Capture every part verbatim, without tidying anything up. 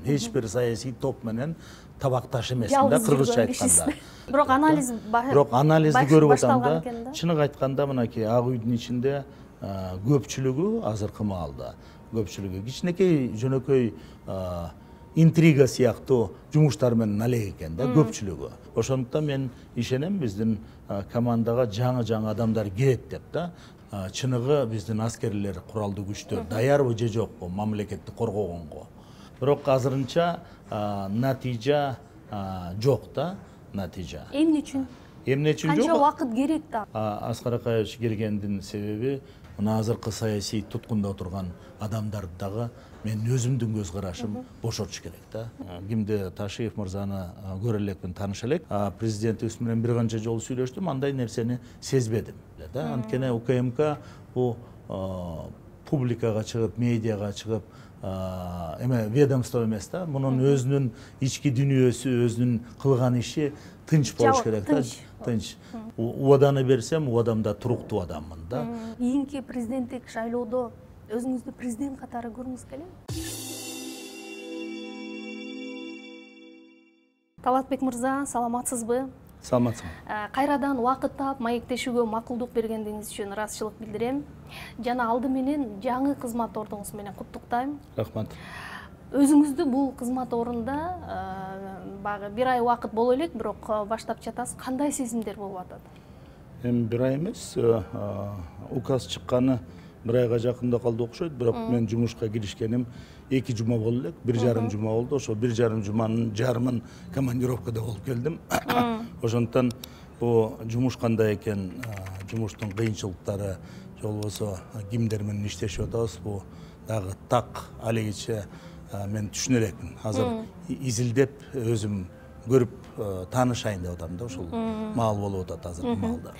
эч бир саясий топ менен табакташ эмесмин да, кыргызча айтканда. Бирок анализ бирок анализди көрүп атам да, чыныгы айтканда мынакей Ак үйдүн ичинде көпчүлүгү азыркы маалда көпчүлүгү кичинекей жөнөкөй интрига сыяктуу жумуштар менен алек экен да, көпчүлүгү. Ошондуктан мен ишенем биздин командага жаңы-жаңы адамдар кирет деп да. Чыныгы биздин аскерлер, куралдуу күчтөр даярбы же жокпу мамлекетти коргогонго. Бирок азырынча натыйжа жок да, натыйжа. Эмне үчүн? Эмне үчүн жок? Канча убакыт керек да? Аскар Акаевич келгендин себеби мына азыркы саясий туткунда отурган адамдарды дагы мен өзүмдүн көз карашым бошотуш керек да. Кимди Ташиев мырзаны көрө элекмин, тааныша элек. Президентибиз менен бир канча жолу сүйлөштүм, андай нерсени сезбедим да. Анткени УКМК бул публикага чыгып, медиага чыгып эме ведомство эмес да. Мунун өзүнүн ички дүнүйөсү, өзүнүн кылган иши тынч болуш керек да. Тынч. Убаданы берсем, убадамда туруктуу адаммын да. Кийинки президенттик шайлоодо өзүңүздү президент катары көргүңүз келеби? Талатбек мырза, саламатсызбы? Саламатсызбы. Кайрадан убакыт таап маектешүүгө макулдук бергениңиз үчүн ыраазычылык билдирем. Жана алды менен жаңы кызмат ордуңуз менен куттуктайм. Рахмат. Өзүңүздү бул кызмат ордунда багы бир ай убакыт боло элек, бирок баштап жатасыз. Кандай сезимдер болуп атат? Эми бир ай эмес, указ чыкканы бир айга жакында калды окшойт, бирок мен жумушка киришкеним эки жума болду элек, бир жарым жума болду. Ошо бир жарым жуманын жарымын командировкада болуп келдим. Ошондуктан бул жумуш кандай экен, жумуштун кыйынчылыктары, же болбосо кимдер менен иштешип атабыз, бул дагы так алегиче мен түшүнө элекмин. Азыр изилдеп өзүм көрүп таанышайын деп атам да, ушул маал болуп атат азыркы маалда.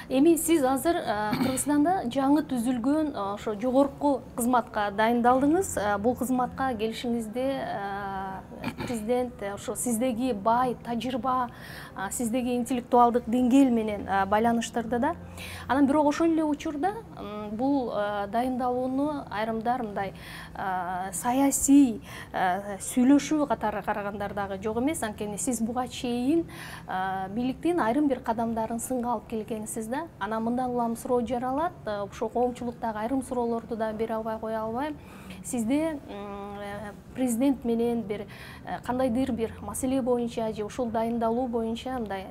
Эми сиз азыр Кыргызстанда жаңы түзүлгөн ошо жогорку кызматка дайындалдыңыз. Бул кызматка келишиңизде президент ошо сиздеги бай тажрыйба, сиздеги интеллектуалдык деңгээл менен байланыштырды да. Анан бирок ошол эле учурда бул дайындалууну айрымдар мындай саясий сүйлөшүү катары карагандар дагы жок эмес. Анткени сиз буга чейин бийликтин айрым бир кадамдарын сынга алып келгенсиз да. Анан мындан улам суроо жаралат. Ошо коомчулуктагы айрым суроолорду да бере албай кое албайм. Сизде президент менен бир кандайдыр бир маселе боюнча же ушул дайындалуу боюнча мындай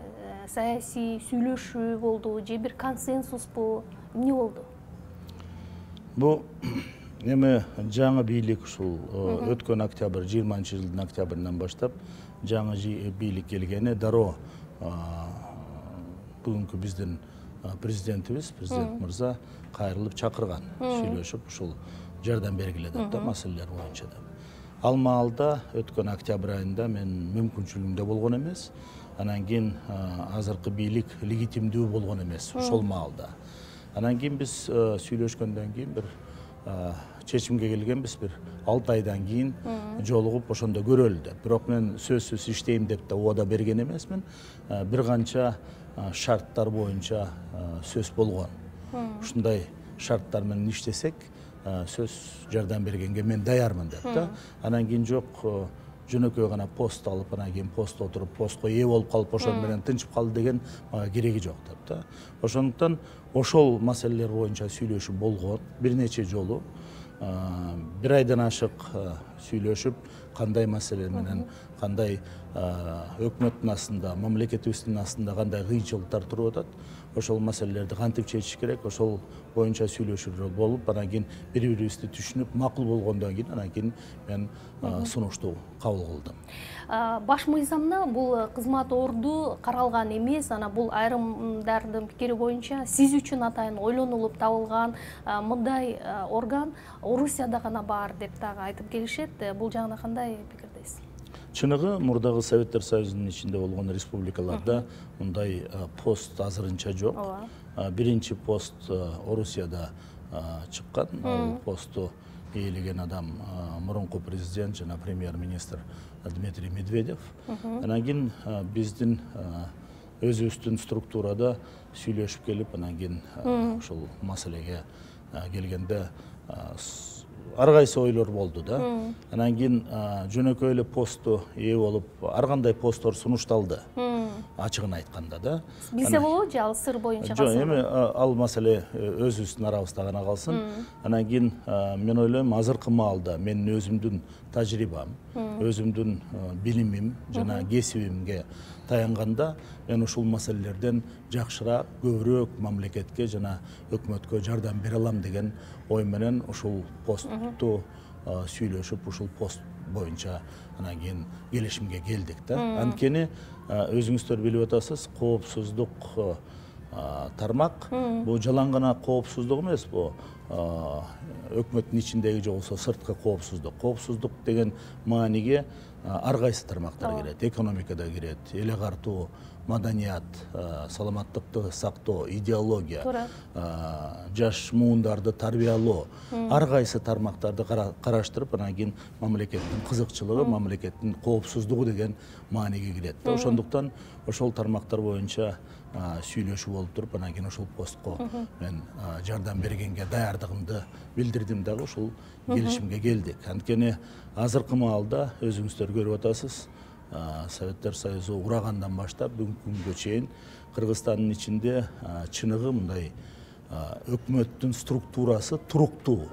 саясий сүйлөшүү болду же бир консенсуспу, эмне болду? Бул эми жаңы бийлик ушул өткөн октябрь, жыйырманчы жылдын октябрынан баштап жаңы бийлик келгени дароо бүгүнкү биздин президентибиз, президент мырза кайрылып чакырган, сүйлөшүп ушул жардам бергиле деп да, маселелер боюнча деп. Ал маалда өткөн октябрь айында мен мүмкүнчүлүгүмдө болгон эмес. Анан кийин азыркы бийлик легитимдүү болгон эмес ошол маалда. Анан кийин биз сүйлөшкөндөн кийин бир чечимге келгенбиз, бир алты айдан кийин жолугуп ошондо көрөлү деп. Бирок мен сөзсүз иштейм деп да убада берген эмесмин. Бир канча шарттар боюнча сөз болгон. Ушундай шарттар менен иштесек, сөз жардам бергенге мен даярмын деп да. Анан кийин жок, жөнөкөй гана пост алып, анан кийин постто отуруп, постко ээ болуп калып, ошол менен тынчып калды деген кереги жок деп да. Ошондуктан ошол маселелер боюнча сүйлөшүү болгон бир нече жолу. Бир айдан ашык сүйлөшүп, кандай маселе менен, кандай өкмөттүн астында, мамлекетибиздин астында кандай кыйынчылыктар туруп атат, ошол маселелерди кантип чечиш керек, ошол боюнча сүйлөшүүлөр болуп, анан кийин бири-бирибизди түшүнүп, макул болгондон кийин анан кийин мен сунушту кабыл кылдым. Баш мыйзамда бул кызмат орду каралган эмес, анан бул айрымдардын пикири боюнча сиз үчүн атайын ойлонулуп табылган мындай орган Орусияда гана бар деп дагы айтып келишет. Бул жагына кандай пикирдесиз? Чыныгы мурдагы Советтер Союзунун ичинде болгон республикаларда мындай пост азырынча жок. Биринчи пост Орусияда чыккан. Ал посту ээлеген адам мурунку президент жана премьер-министр Дмитрий Медведев. Анан кийин биздин өзүбүздүн структурада сүйлөшүп келип, анан кийин ушул маселеге келгенде ар кайсы ойлор болду да. Анан кийин жөнөкөй эле посту ээ болуп, ар кандай посттор сунушталды. Ачыгын айтканда да. Билсе болобу же ал сыр боюнча калсын? Жок, эми ал маселе өзүбүздүн арабызда гана калсын. Анан кийин мен ойлойм, азыркы маалда менин өзүмдүн тажрыйбам, өзүмдүн билимим жана кесибимге таянганда мен ушул маселелерден жакшыраак, көбүрөөк мамлекетке жана өкмөткө жардам бере алам деген ой менен ушул постту сүйлөшүп, ушул пост боюнча анан кийин келишимге келдик да. Анткени өзүңүздөр билип атасыз, коопсуздук тармак бул жалаң гана коопсуздук эмес, бул өкмөттүн ичиндеги же болбосо сырткы коопсуздук. Коопсуздук деген мааниге ар кайсы тармактар кирет. Экономикада кирет, эл агартуу, маданият, саламаттыкты сактоо, идеология, жаш муундарды тарбиялоо, ар кайсы тармактарды караштырып, анан кийин мамлекеттин кызыкчылыгы, мамлекеттин коопсуздугу деген мааниге кирет. Ошондуктан ошол тармактар боюнча сүйлөшүү болуп туруп, анан кийин ошол постко мен жардам бергенге даярдыгымды билдирдим дагы, ушул келишимге келдик. Анткени азыркы маалда өзүңүздөр көрүп атасыз, Советтер Союзу урагандан баштап бүгүнкү күнгө чейин Кыргызстандын ичинде чыныгы мындай өкмөттүн структурасы туруктуу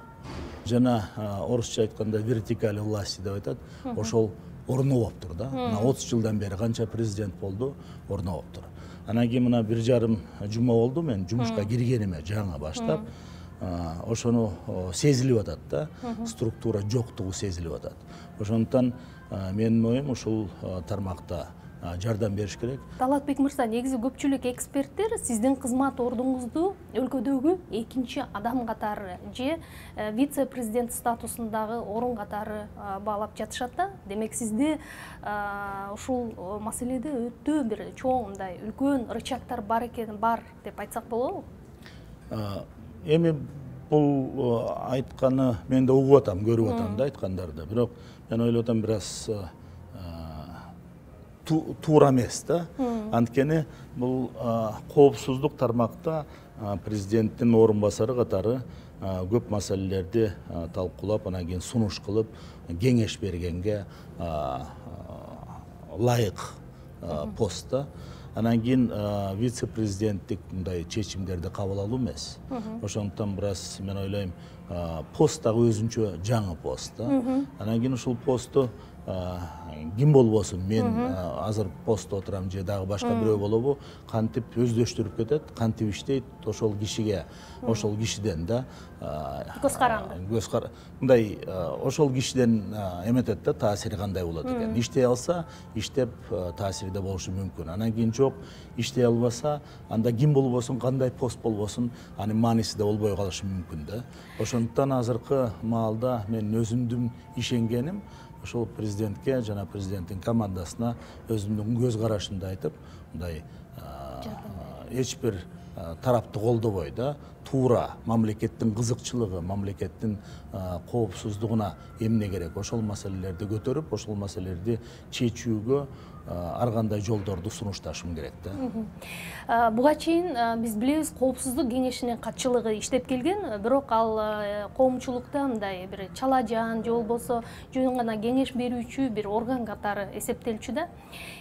жана орусча айтканда вертикаль власти деп айтат, ошол орнобоптур да. Мына отуз жылдан бери канча президент болду, орнобоптур. Анан кийин мына бир жарым жума болду мен жумушка киргениме жаңы баштап, ошону сезилип атат да, структура жоктугу сезилип атат. Ошондуктан менин оюм ушул тармакта жардам бериш керек. Талатбек мырза, негизи көпчүлүк эксперттер сиздин кызмат ордуңузду өлкөдөгү экинчи адам катары же вице-президент статусундагы орун катары баалап жатышат да. Демек сизде ушул маселеде өтө бир чоң мындай үлкөн рычагтар бар экен, бар деп айтсак болобу? Эми бул айтканы мен да угуп атам, көрүп атам да айткандарды. Бирок мен ойлоп атам, бир аз туура эмес да. Анткени бул коопсуздук тармакта президенттин орун басары катары көп маселелерди талкуулап, анан кийин сунуш кылып, кеңеш бергенге ылайык пост да. Анан кийин вице-президенттик мындай чечимдерди кабыл алуу эмес. Ошондуктан бир аз мен ойлойм, пост дагы өзүнчө жаңы пост да. Анан кийин ушул посту ким болбосун, мен азыр постто отурам же дагы башка бирөө болобу, кантип өздөштүрүп кетет, кантип иштейт, ошол кишиге, ошол кишиден да көз каранды. Көз кар мындай ошол кишиден эметет да, таасири кандай болот экен. Иштей алса, иштеп таасирде болушу мүмкүн. Анан кийин жок, иштей албаса, анда ким болбосун, кандай пост болбосун, анын мааниси да болбой калышы мүмкүн да. Ошондуктан азыркы маалда мен өзүмдүн ишенгеним ошол президентке жана президенттин командасына өзүмдүн көз карашымды айтып, мындай эч бир тарапты колдобой да, туура мамлекеттин кызыкчылыгы, мамлекеттин коопсуздугуна эмне керек, ошол маселелерди көтөрүп, ошол маселелерди чечүүгө ар кандай жолдорду сунушташым керек да. Буга чейин биз билебиз, коопсуздук кеңешинин катчылыгы иштеп келген, бирок ал коомчулукта мындай бир чала жан же болбосо жөн гана кеңеш берүүчү бир орган катары эсептелчү да.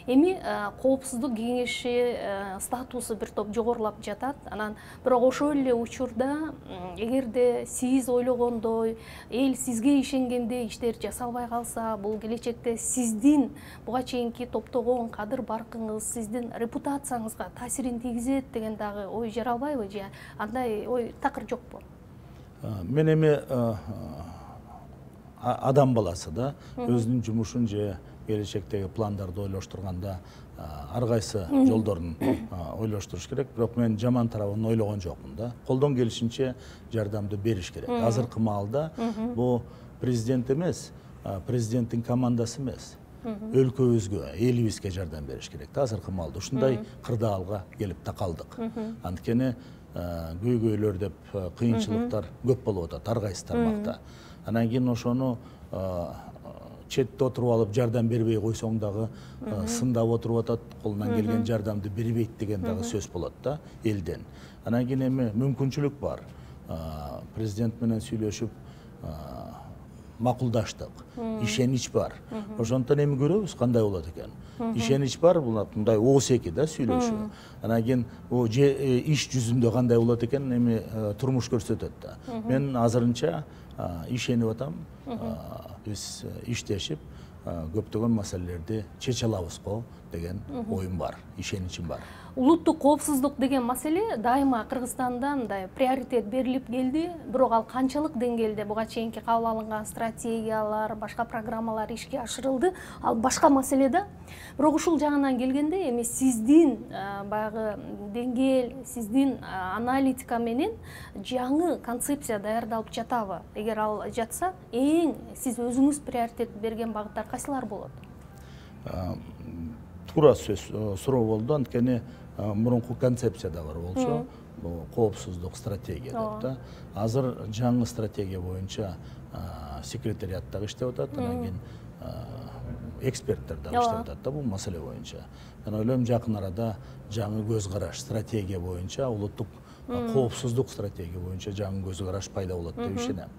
Эми коопсуздук кеңеши статусу бир топ жогорулап жатат. Анан бирок ошол эле учурда эгерде сиз ойлогондой, эл сизге ишенгендей иштер жасалбай калса, бул келечекте сиздин буга чейинки топтогон кадыр баркыңыз, сиздин репутацияңызга таасирин тийгизет деген дагы ой жаралбайбы, же андай ой такыр жокпу? Мен эми адам баласы да, өзүнүн жумушун же келечектеги пландарды ойлоштурганда ар кайсы жолдорун ойлоштуруш керек. Бирок мен жаман тарабын ойлогон жокмун да. Колдон келишинче жардамды бериш керек. Азыркы маалда бул президент эмес, президенттин командасы эмес, өлкөбүзгө, элибизге жардам бериш керек да. Азыркы маалда ушундай кырдаалга келип такалдык. Анткени көйгөйлөр деп кыйынчылыктар көп болуп атат ар кайсы тармакта. Анан кийин ошону четте отуруп алып жардам бербей койсоң дагы сындап отуруп атат, колунан келген жардамды бербейт деген дагы сөз болот да элден. Анан кийин эми мүмкүнчүлүк бар. Президент менен сүйлөшүп макулдаштык, ишенич бар. Ошондон эми көрөбүз кандай болот экен. Ишенич бар, бул мындай ооз эки да сүйлөшүү. Анан кийин иш жүзүндө кандай болот экен, эми турмуш көрсөтөт да. Мен азырынча ишенип атам, биз иштешип көптөгөн маселелерди чече алабыз го деген оюм бар, ишеничим бар. Улуттук коопсуздук деген маселе дайыма Кыргызстанда мындай приоритет берилип келди, бирок ал канчалык деңгээлде буга чейинки кабыл алынган стратегиялар, башка программалар ишке ашырылды, ал башка маселе да. Бирок ушул жагынан келгенде эми сиздин баягы деңгээл, сиздин аналитика менен жаңы концепция даярдалып жатабы? Эгер ал жатса, эң сиз өзүңүз приоритет берген багыттар кайсылар болот? Туура сөз суроо болду, анткени мурунку концепция да бар болчу, бул коопсуздук стратегия деп да. Азыр жаңы стратегия боюнча секретариат дагы иштеп атат, анан кийин эксперттер дагы иштеп атат да бул маселе боюнча. Мен ойлойм, жакын арада жаңы көз караш стратегия боюнча, улуттук коопсуздук стратегия боюнча жаңы көз караш пайда болот деп ишенем.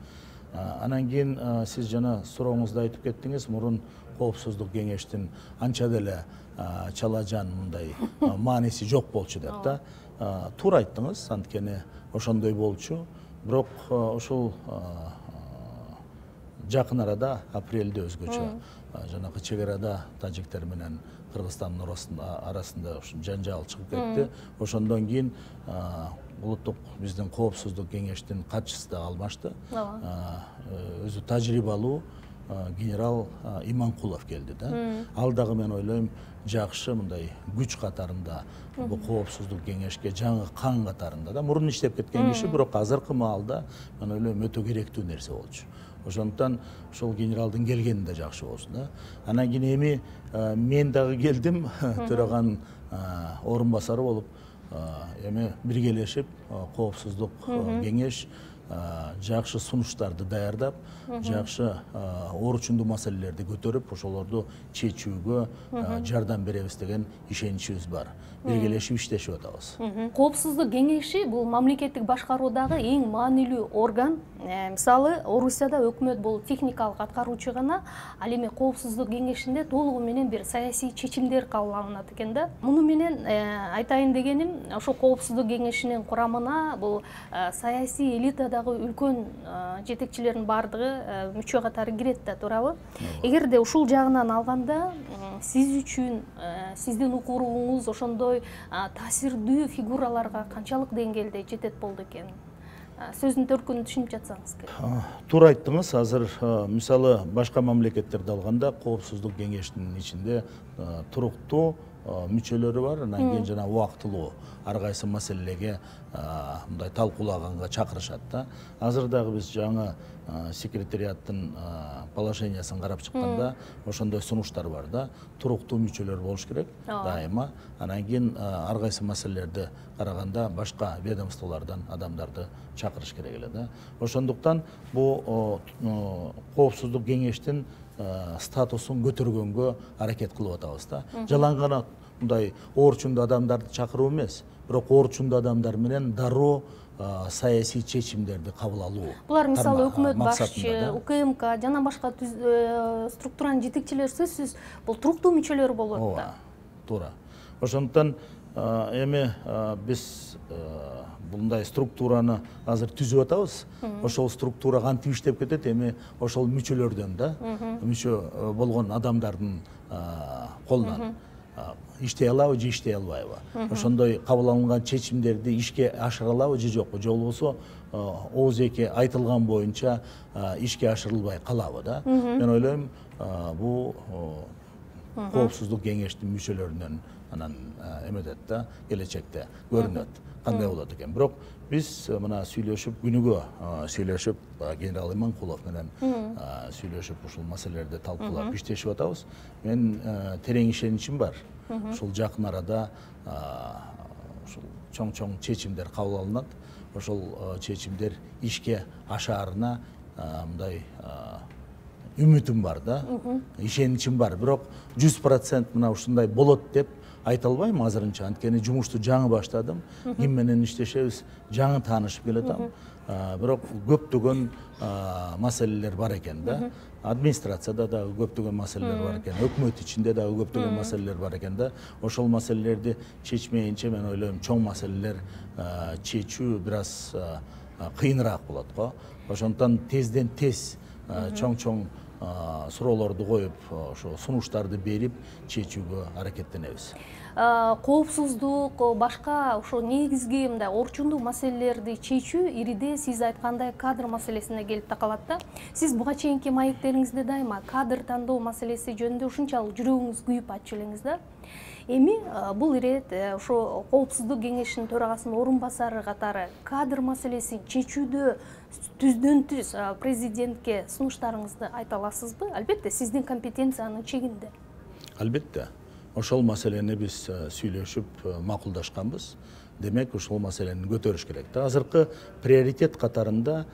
Анан кийин сиз жана сурооңузда айтып кеттиңиз, мурун коопсуздук кеңештин анча деле чала жан мындай мааниси жок болчу деп да. Туура айттыңыз, анткени ошондой болчу. Бирок ушул жакын арада апрелде өзгөчө жанагы чек арада тажиктер менен Кыргызстандын арасында жанжал чыгып кетти. Ошондон кийин улуттук биздин коопсуздук кеңештин катчысы да алмашты. Өзү тажрыйбалуу генерал Иманкулов келди да. Ал дагы мен ойлойм жакшы мындай күч катарында бул коопсуздук кеңешке жаңы кан катарында да. Мурун иштеп кеткен киши, бирок азыркы маалда мен ойлойм өтө керектүү нерсе болчу. Ошондон ошол генералдын келгени да жакшы болсун да. Анан кийин эми мен дагы келдим, төраганын орун басары болуп, эми биргелешип коопсуздук кеңеш жакшы сунуштарды даярдап, жакшы орчундуу маселелерди көтөрүп, ошолорду чечүүгө жардам беребиз деген ишеничибиз бар. Биргелешип иштешип атабыз. Коопсуздук кеңеши бул мамлекеттик башкаруудагы эң маанилүү орган. Мисалы, Орусияда өкмөт бул техникалык аткаруучу гана, ал эми коопсуздук кеңешинде толугу менен бир саясий чечимдер кабыл алынат экен да. Муну менен айтайын дегеним, ошол коопсуздук кеңешинин курамына бул саясий элитадагы үлкөн жетекчилердин бардыгы мүчө катары кирет да, туурабы? Эгерде ушул жагынан алганда, сиз үчүн сиздин укуруңуз ошондой таасирдүү фигураларга канчалык деңгээлде жетет болду экен? Сөздүн төркүнүн түшүнүп жатсаңыз керек. Туура айттыңыз. Азыр мисалы башка мамлекеттерди алганда коопсуздук кеңештин ичинде туруктуу мүчөлөрү бар, анан кийин жана убактылуу ар кайсы маселеге мындай талкуулаганга чакырышат да. Азыр дагы биз жаңы секретариаттын положениясын карап чыкканда ошондой сунуштар бар да. Туруктуу мүчөлөр болуш керек дайыма. Анан кийин ар кайсы маселелерди караганда башка ведомстволордон адамдарды чакырыш керек эле да. Ошондуктан бул коопсуздук кеңештин статусун көтөргөнгө аракет кылып атабыз да. Жалаң гана мындай орчундуу адамдарды чакыруу эмес, бирок орчундуу адамдар менен дароо саясий чечимдерди кабыл алуу. Булар мисалы өкмөт башчы, УКМК жана башка структуранын жетекчилери сөзсүз бул туруктуу мүчөлөр болот да. Туура. Ошондуктан эми биз мындай структураны азыр түзүп атабыз. Ошол структура кантип иштеп кетет, эми ошол мүчөлөрдөн да, мүчө болгон адамдардын колунан иштей алабы же иштей албайбы. Ошондой кабыл алынган чечимдерди ишке ашыра алабы же жокпу, же болбосо ооз-эки айтылган боюнча ишке ашырылбай калабы да. Мен ойлойм, бул коопсуздук кеңештин мүчөлөрүнөн анан эметет да, келечекте көрүнөт кандай болот экен. Бирок биз мына сүйлөшүп, күнүгө сүйлөшүп, генерал Иманкулов менен сүйлөшүп, ушул маселелерди талкуулап иштешип атабыз. Мен терең ишеничим бар. Ушул жакын арада ушул чоң-чоң чечимдер кабыл алынат. Ошол чечимдер ишке ашаарына мындай үмүтүм бар да, ишеничим бар. Бирок жүз процент мына ушундай болот деп айта албайм азырынча, анткени жумушту жаңы баштадым. Ким менен иштешебиз жаңы таанышып келатам. бирок көптөгөн маселелер бар экен да. Администрацияда да көптөгөн маселелер бар экен, өкмөт ичинде дагы көптөгөн маселелер бар экен да. Ошол маселелерди чечмейинче мен ойлойм чоң маселелер чечүү бир аз кыйыныраак болот го. Ошондуктан тезден тез чоң-чоң суроолорду коюп, ошо сунуштарды берип чечүүгө аракеттенебиз. Коопсуздук, башка ошо негизги мындай орчундуу маселелерди чечүү ириде сиз айткандай кадр маселесине келип такалат да. Сиз буга чейинки маектериңизде дайыма кадр тандоо маселеси жөнүндө ушунчалык жүрөгүңүз күйүп айтчу элеңиз да. Эми бул ирет ошо Коопсуздук кеңешинин төрагасынын орун басары катары кадр маселесин чечүүдө түздөн түз президентке сунуштарыңызды айта аласызбы? Албетте, сиздин компетенциянын чегинде. Албетте. Ошол маселени биз сүйлөшүп макулдашканбыз. Демек, ошол маселени көтөрүш керек. Азыркы приоритет катарында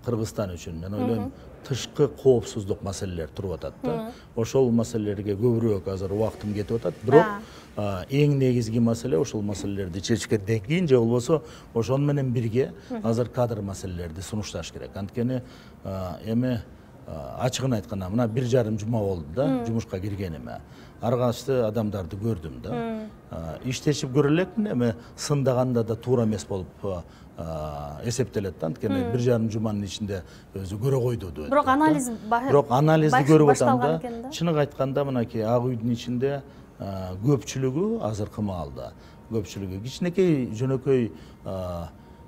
Кыргызстан үчүн мен ойлойм тышкы коопсуздук маселелер туруп атат да. Ошол маселелерге көбүрөөк азыр убактым кетип атат. Бирок эң негизги маселе ошол маселелерди чечкенден кийин же болбосо ошону менен бирге азыр кадр маселелерди сунушташ керек. Анткени эми ачыгын айтканда мына бир жарым жума болду да жумушка киргениме. Ар кайсы адамдарды көрдүм да. Иштешип көрө элекмин, эми сындаганда да туура эмес болуп эсептелет да. Анткени бир жарым жуманын ичинде өзү көрө койду дейт. Бирок анализ Бирок анализди көрүп атам да. Чыныгы айтканда мынакей Ак үйдүн ичинде көпчүлүгү азыркы маалда көпчүлүгү кичинекей жөнөкөй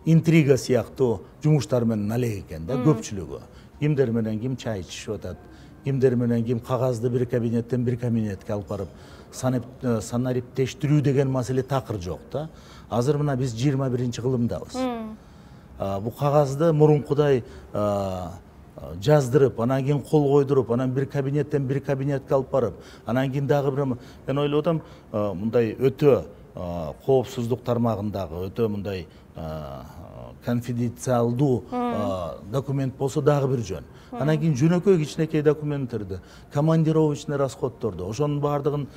интрига сыяктуу жумуштар менен алек экен да көпчүлүгү. Кимдер менен ким чай ичишип атат, кимдер менен ким кагазды бир кабинеттен бир кабинетке алып барып санариптештирүү деген маселе такыр жок да. Азыр мына биз жыйырма биринчи кылымдабыз. Бу кагазды мурункудай жаздырып, анан кийин кол койдуруп, анан бир кабинеттен бир кабинетке алып барып, анан кийин дагы бир мен ойлоп атам, мындай өтө коопсуздук тармагындагы өтө мындай конфиденциалдуу документ болсо дагы бир жөн. Анан кийин жөнөкөй кичинекей документтерди, командировочный расходторду, ошонун баардыгын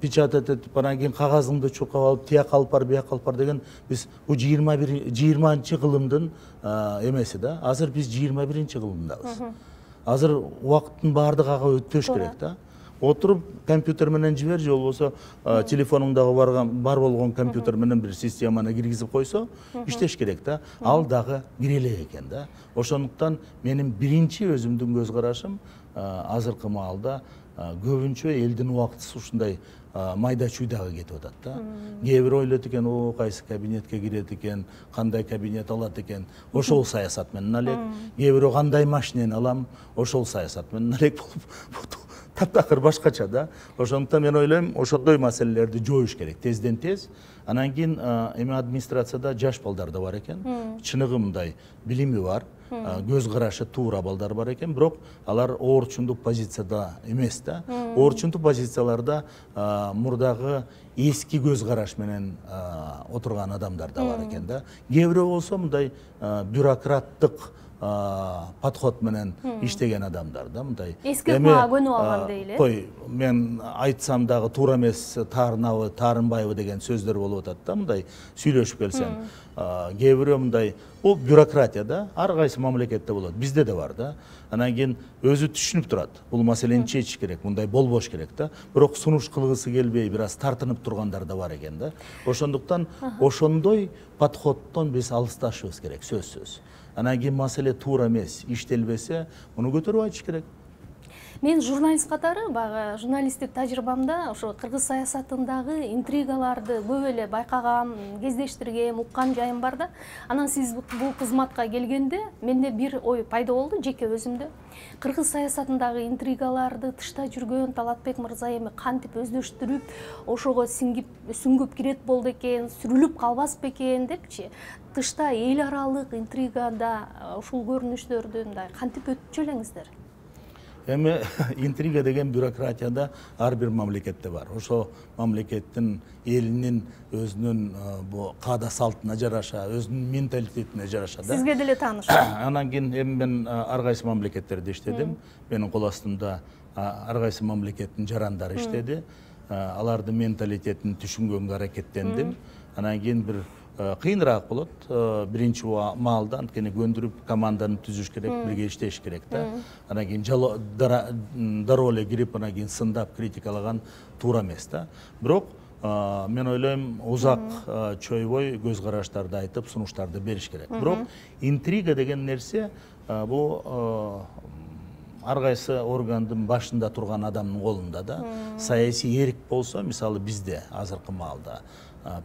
печатать этип, анан кийин кагазыңды чуркап алып, тияк алып бар, бияк алып бар деген биз бул жыйырманчы кылымдын эмеси да. Азыр биз жыйырма биринчи кылымдабыз. Азыр убакыттын баардыгы ага өтпөш керек да. Отуруп компьютер менен жибер, же болбосо телефонуңдагы барган бар болгон компьютер менен бир системаны киргизип койсо иштеш керек да. Ал дагы кире элек экен да. Ошондуктан менин биринчи өзүмдүн көз карашым азыркы маалда көбүнчө элдин убактысы ушундай майда чуйдага кетип атат да. Кээ бир ойлойт экен, о кайсы кабинетке кирет экен, кандай кабинет алат экен, ошол саясат менен алек. Кээ бирөө кандай машинени алам, ошол саясат менен алек болуп таптакыр башкача да. Ошондуктан мен ойлойм, ошондой маселелерди жоюш керек тезден тез. Анан кийин эми администрацияда жаш балдар да бар экен. Чыныгы мындай билими бар, көз карашы туура балдар бар экен, бирок алар орчундук позицияда эмес да. Орчундук позицияларда мурдагы эски көз караш менен отурган адамдар да бар экен да. Кээ бирөө болсо мындай бюрократтык подход менен иштеген адамдар да, мындай. Эски ыкмага көнүп алган дейли. Кой, мен айтсам дагы туура эмес, таарынабы, таарынбайбы деген сөздөр болуп атат да, мындай сүйлөшүп келсем. Кээ бирөө мындай, бул бюрократия да, ар кайсы мамлекетте болот, бизде да бар да. Анан кийин өзү түшүнүп турат, бул маселени чечиш керек, мындай болбош керек да. Бирок сунуш кылгысы келбей, бир аз тартынып тургандар да бар экен да. Ошондуктан ошондой подходтон биз алысташыбыз керек, сөзсүз. Анан кийин маселе туура эмес, иштелбесе, муну көтөрүп айтыш керек. Мен журналист катары, баягы журналисттик тажрыйбамда ошо кыргыз саясатындагы интригаларды көп эле байкагам, кездештиргем, уккан жайым бар да. Анан сиз бул кызматка келгенде менде бир ой пайда болду, жеке өзүмдө. Кыргыз саясатындагы интригаларды тышта жүргөн Талатбек мырза эми кантип өздөштүрүп, ошого сиңип, сүңгүп кирет болду экен, сүрүлүп калбас бекен депчи. Тышта эл аралык интригада ушул көрүнүштөрдү мындай кантип өтчү элеңиздер? Эми интрига деген бюрократияда ар бир мамлекетте бар. Ошо мамлекеттин элинин өзүнүн бу каада салтына жараша, өзүнүн менталитетине жараша да. Сизге деле тааныш. Анан кийин эми мен ар кайсы мамлекеттерде иштедим. Менин кол астымда ар кайсы мамлекеттин жарандары иштеди. Алардын менталитетин түшүнгөнгө аракеттендим. Анан кийин бир кыйыныраак болот. Биринчи маалда анткени көндүрүп команданы түзүш керек, бирге иштеш керек да. Анан кийин дароо эле кирип, анан кийин сындап критикалаган туура эмес да. Бирок мен ойлойм узак чойбой көз караштарды айтып, сунуштарды бериш керек. Бирок интрига деген нерсе бул ар кайсы органдын башында турган адамдын колунда да. Саясий эрк болсо, мисалы бизде азыркы маалда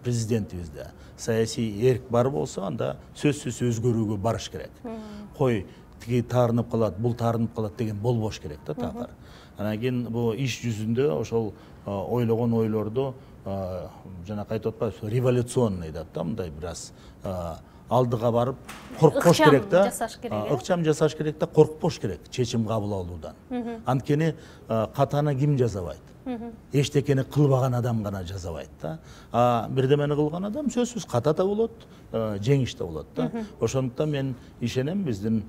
президентибизде саясий эрк бар болсо, анда сөзсүз өзгөрүүгө барыш керек. Кой тиги таарынып калат, бул таарынып калат деген болбош керек да такыр. Анан кийин бул иш жүзүндө ошол ойлогон ойлорду жана кайтып атпайбы, революционный дейт да, мындай бир аз алдыга барып коркпош керек да. Ыкчам жасаш керек да, коркпош керек чечим кабыл алуудан. Анткени катаны ким жазабайт? Эчтекени кылбаган адам гана жазабайт да. А бирдемени кылган адам сөзсүз ката да болот, жеңиш да болот да. Ошондуктан мен ишенем биздин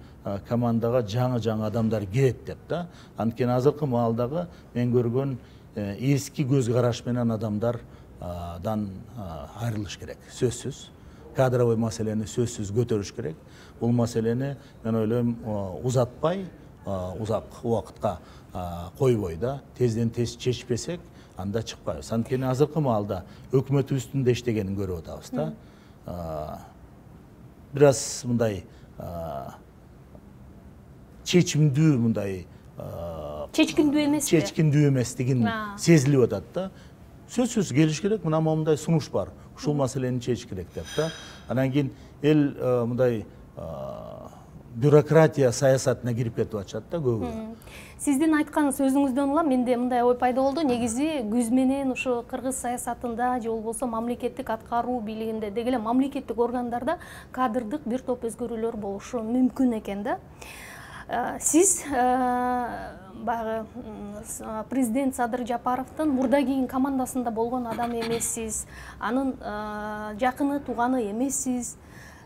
командага жаңы-жаңы адамдар кирет деп да. Анткени азыркы маалдагы мен көргөн эски көз караш менен адамдардан айрылыш керек. Сөзсүз кадровый маселени сөзсүз көтөрүш керек. Бул маселени мен ойлойм узатпай, узак убакытка койбой да, тезден тез чечпесек, анда чыкпайбыз. Анткени азыркы маалда өкмөтүбүздүн да иштегенин көрүп атабыз да. Бир аз мындай чечимдүү, мындай чечкиндүү эмес, чечкиндүү эместигин сезилип атат да. Сөзсүз келиш керек, мына момундай сунуш бар, ушул маселени чечиш керек деп да. Анан кийин эл мындай бюрократия саясатына кирип кетип атышат да көбү. Сиздин айткан сөзүңүздөн улам менде мындай ой пайда болду. Негизи күз менен ушу кыргыз саясатында же болбосо мамлекеттик аткаруу бийлигинде деги эле мамлекеттик органдарда кадрдык бир топ өзгөрүүлөр болушу мүмкүн экен да. Сиз баягы президент Садыр Жапаровдун мурда кийин командасында болгон адам эмессиз, анын жакыны тууганы эмессиз.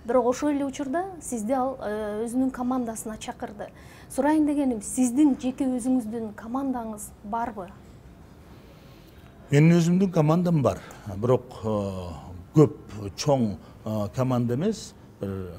Бирок ошол эле учурда сизди ал өзүнүн командасына чакырды. Сурайын дегеним, сиздин жеке өзүңүздүн командаңыз барбы? Менин өзүмдүн командам бар. Бирок көп чоң команда эмес, бир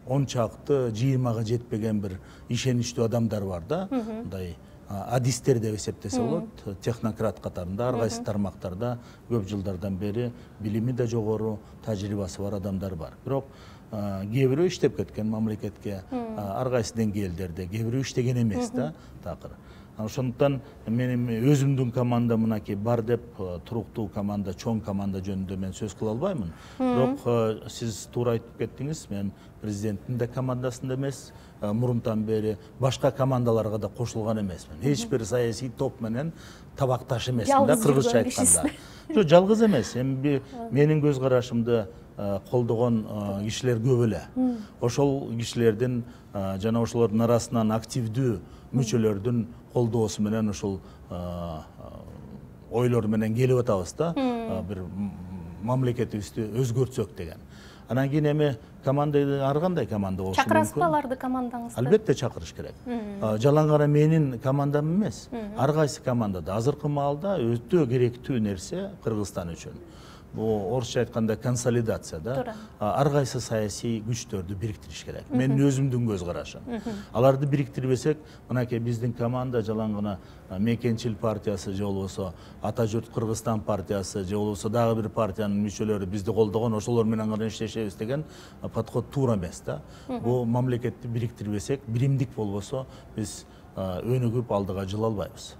он чакты, жыйырмага жетпеген бир ишеничтүү адамдар бар да. Мындай адистер деп эсептесе болот, технократ катарында, ар кайсы тармактарда көп жылдардан бери билими да жогору, тажрыйбасы бар адамдар бар. Бирок кээ бирөө иштеп кеткен мамлекетке, ар кайсы деңгээлдерде, кээ бирөө иштеген эмес да такыр. Ошондуктан менин өзүмдүн команда мынакей бар деп туруктуу команда, чоң команда жөнүндө мен сөз кыла албаймын. Бирок сиз туура айтып кеттиңиз, мен президенттин да командасында эмес, мурунтан бери башка командаларга да кошулган эмесмин. Эч бир саясий топ менен табакташ эмесмин да, кыргызча айтканда. Жок, жалгыз эмес. Эми менин көз карашымды колдогон кишилер көп эле. Ошол кишилердин жана ошолордун арасынан активдүү мүчөлөрдүн колдоосу менен ушул ойлор менен келип атабыз да, бир мамлекетибизди өзгөртсөк деген. Анан кийин эми команда ар кандай команда болушу мүмкүн. Чакырасызбы аларды командаңызга? Албетте чакырыш керек. Жалаң гана менин командам эмес, ар кайсы командада азыркы маалда өтө керектүү нерсе Кыргызстан үчүн. Бул орусча айтканда консолидация да. Ар кайсы саясий күчтөрдү бириктириш керек. Менин өзүмдүн көз карашым. Аларды бириктирбесек, мынакей биздин команда жалаң гана Мекенчил партиясы же болбосо Ата журт Кыргызстан партиясы же болбосо дагы бир партиянын мүчөлөрү бизди колдогон, ошолор менен гана иштешебиз деген подход туура эмес да. Бул мамлекетти бириктирбесек, биримдик болбосо биз өнүгүп алдыга жыла албайбыз.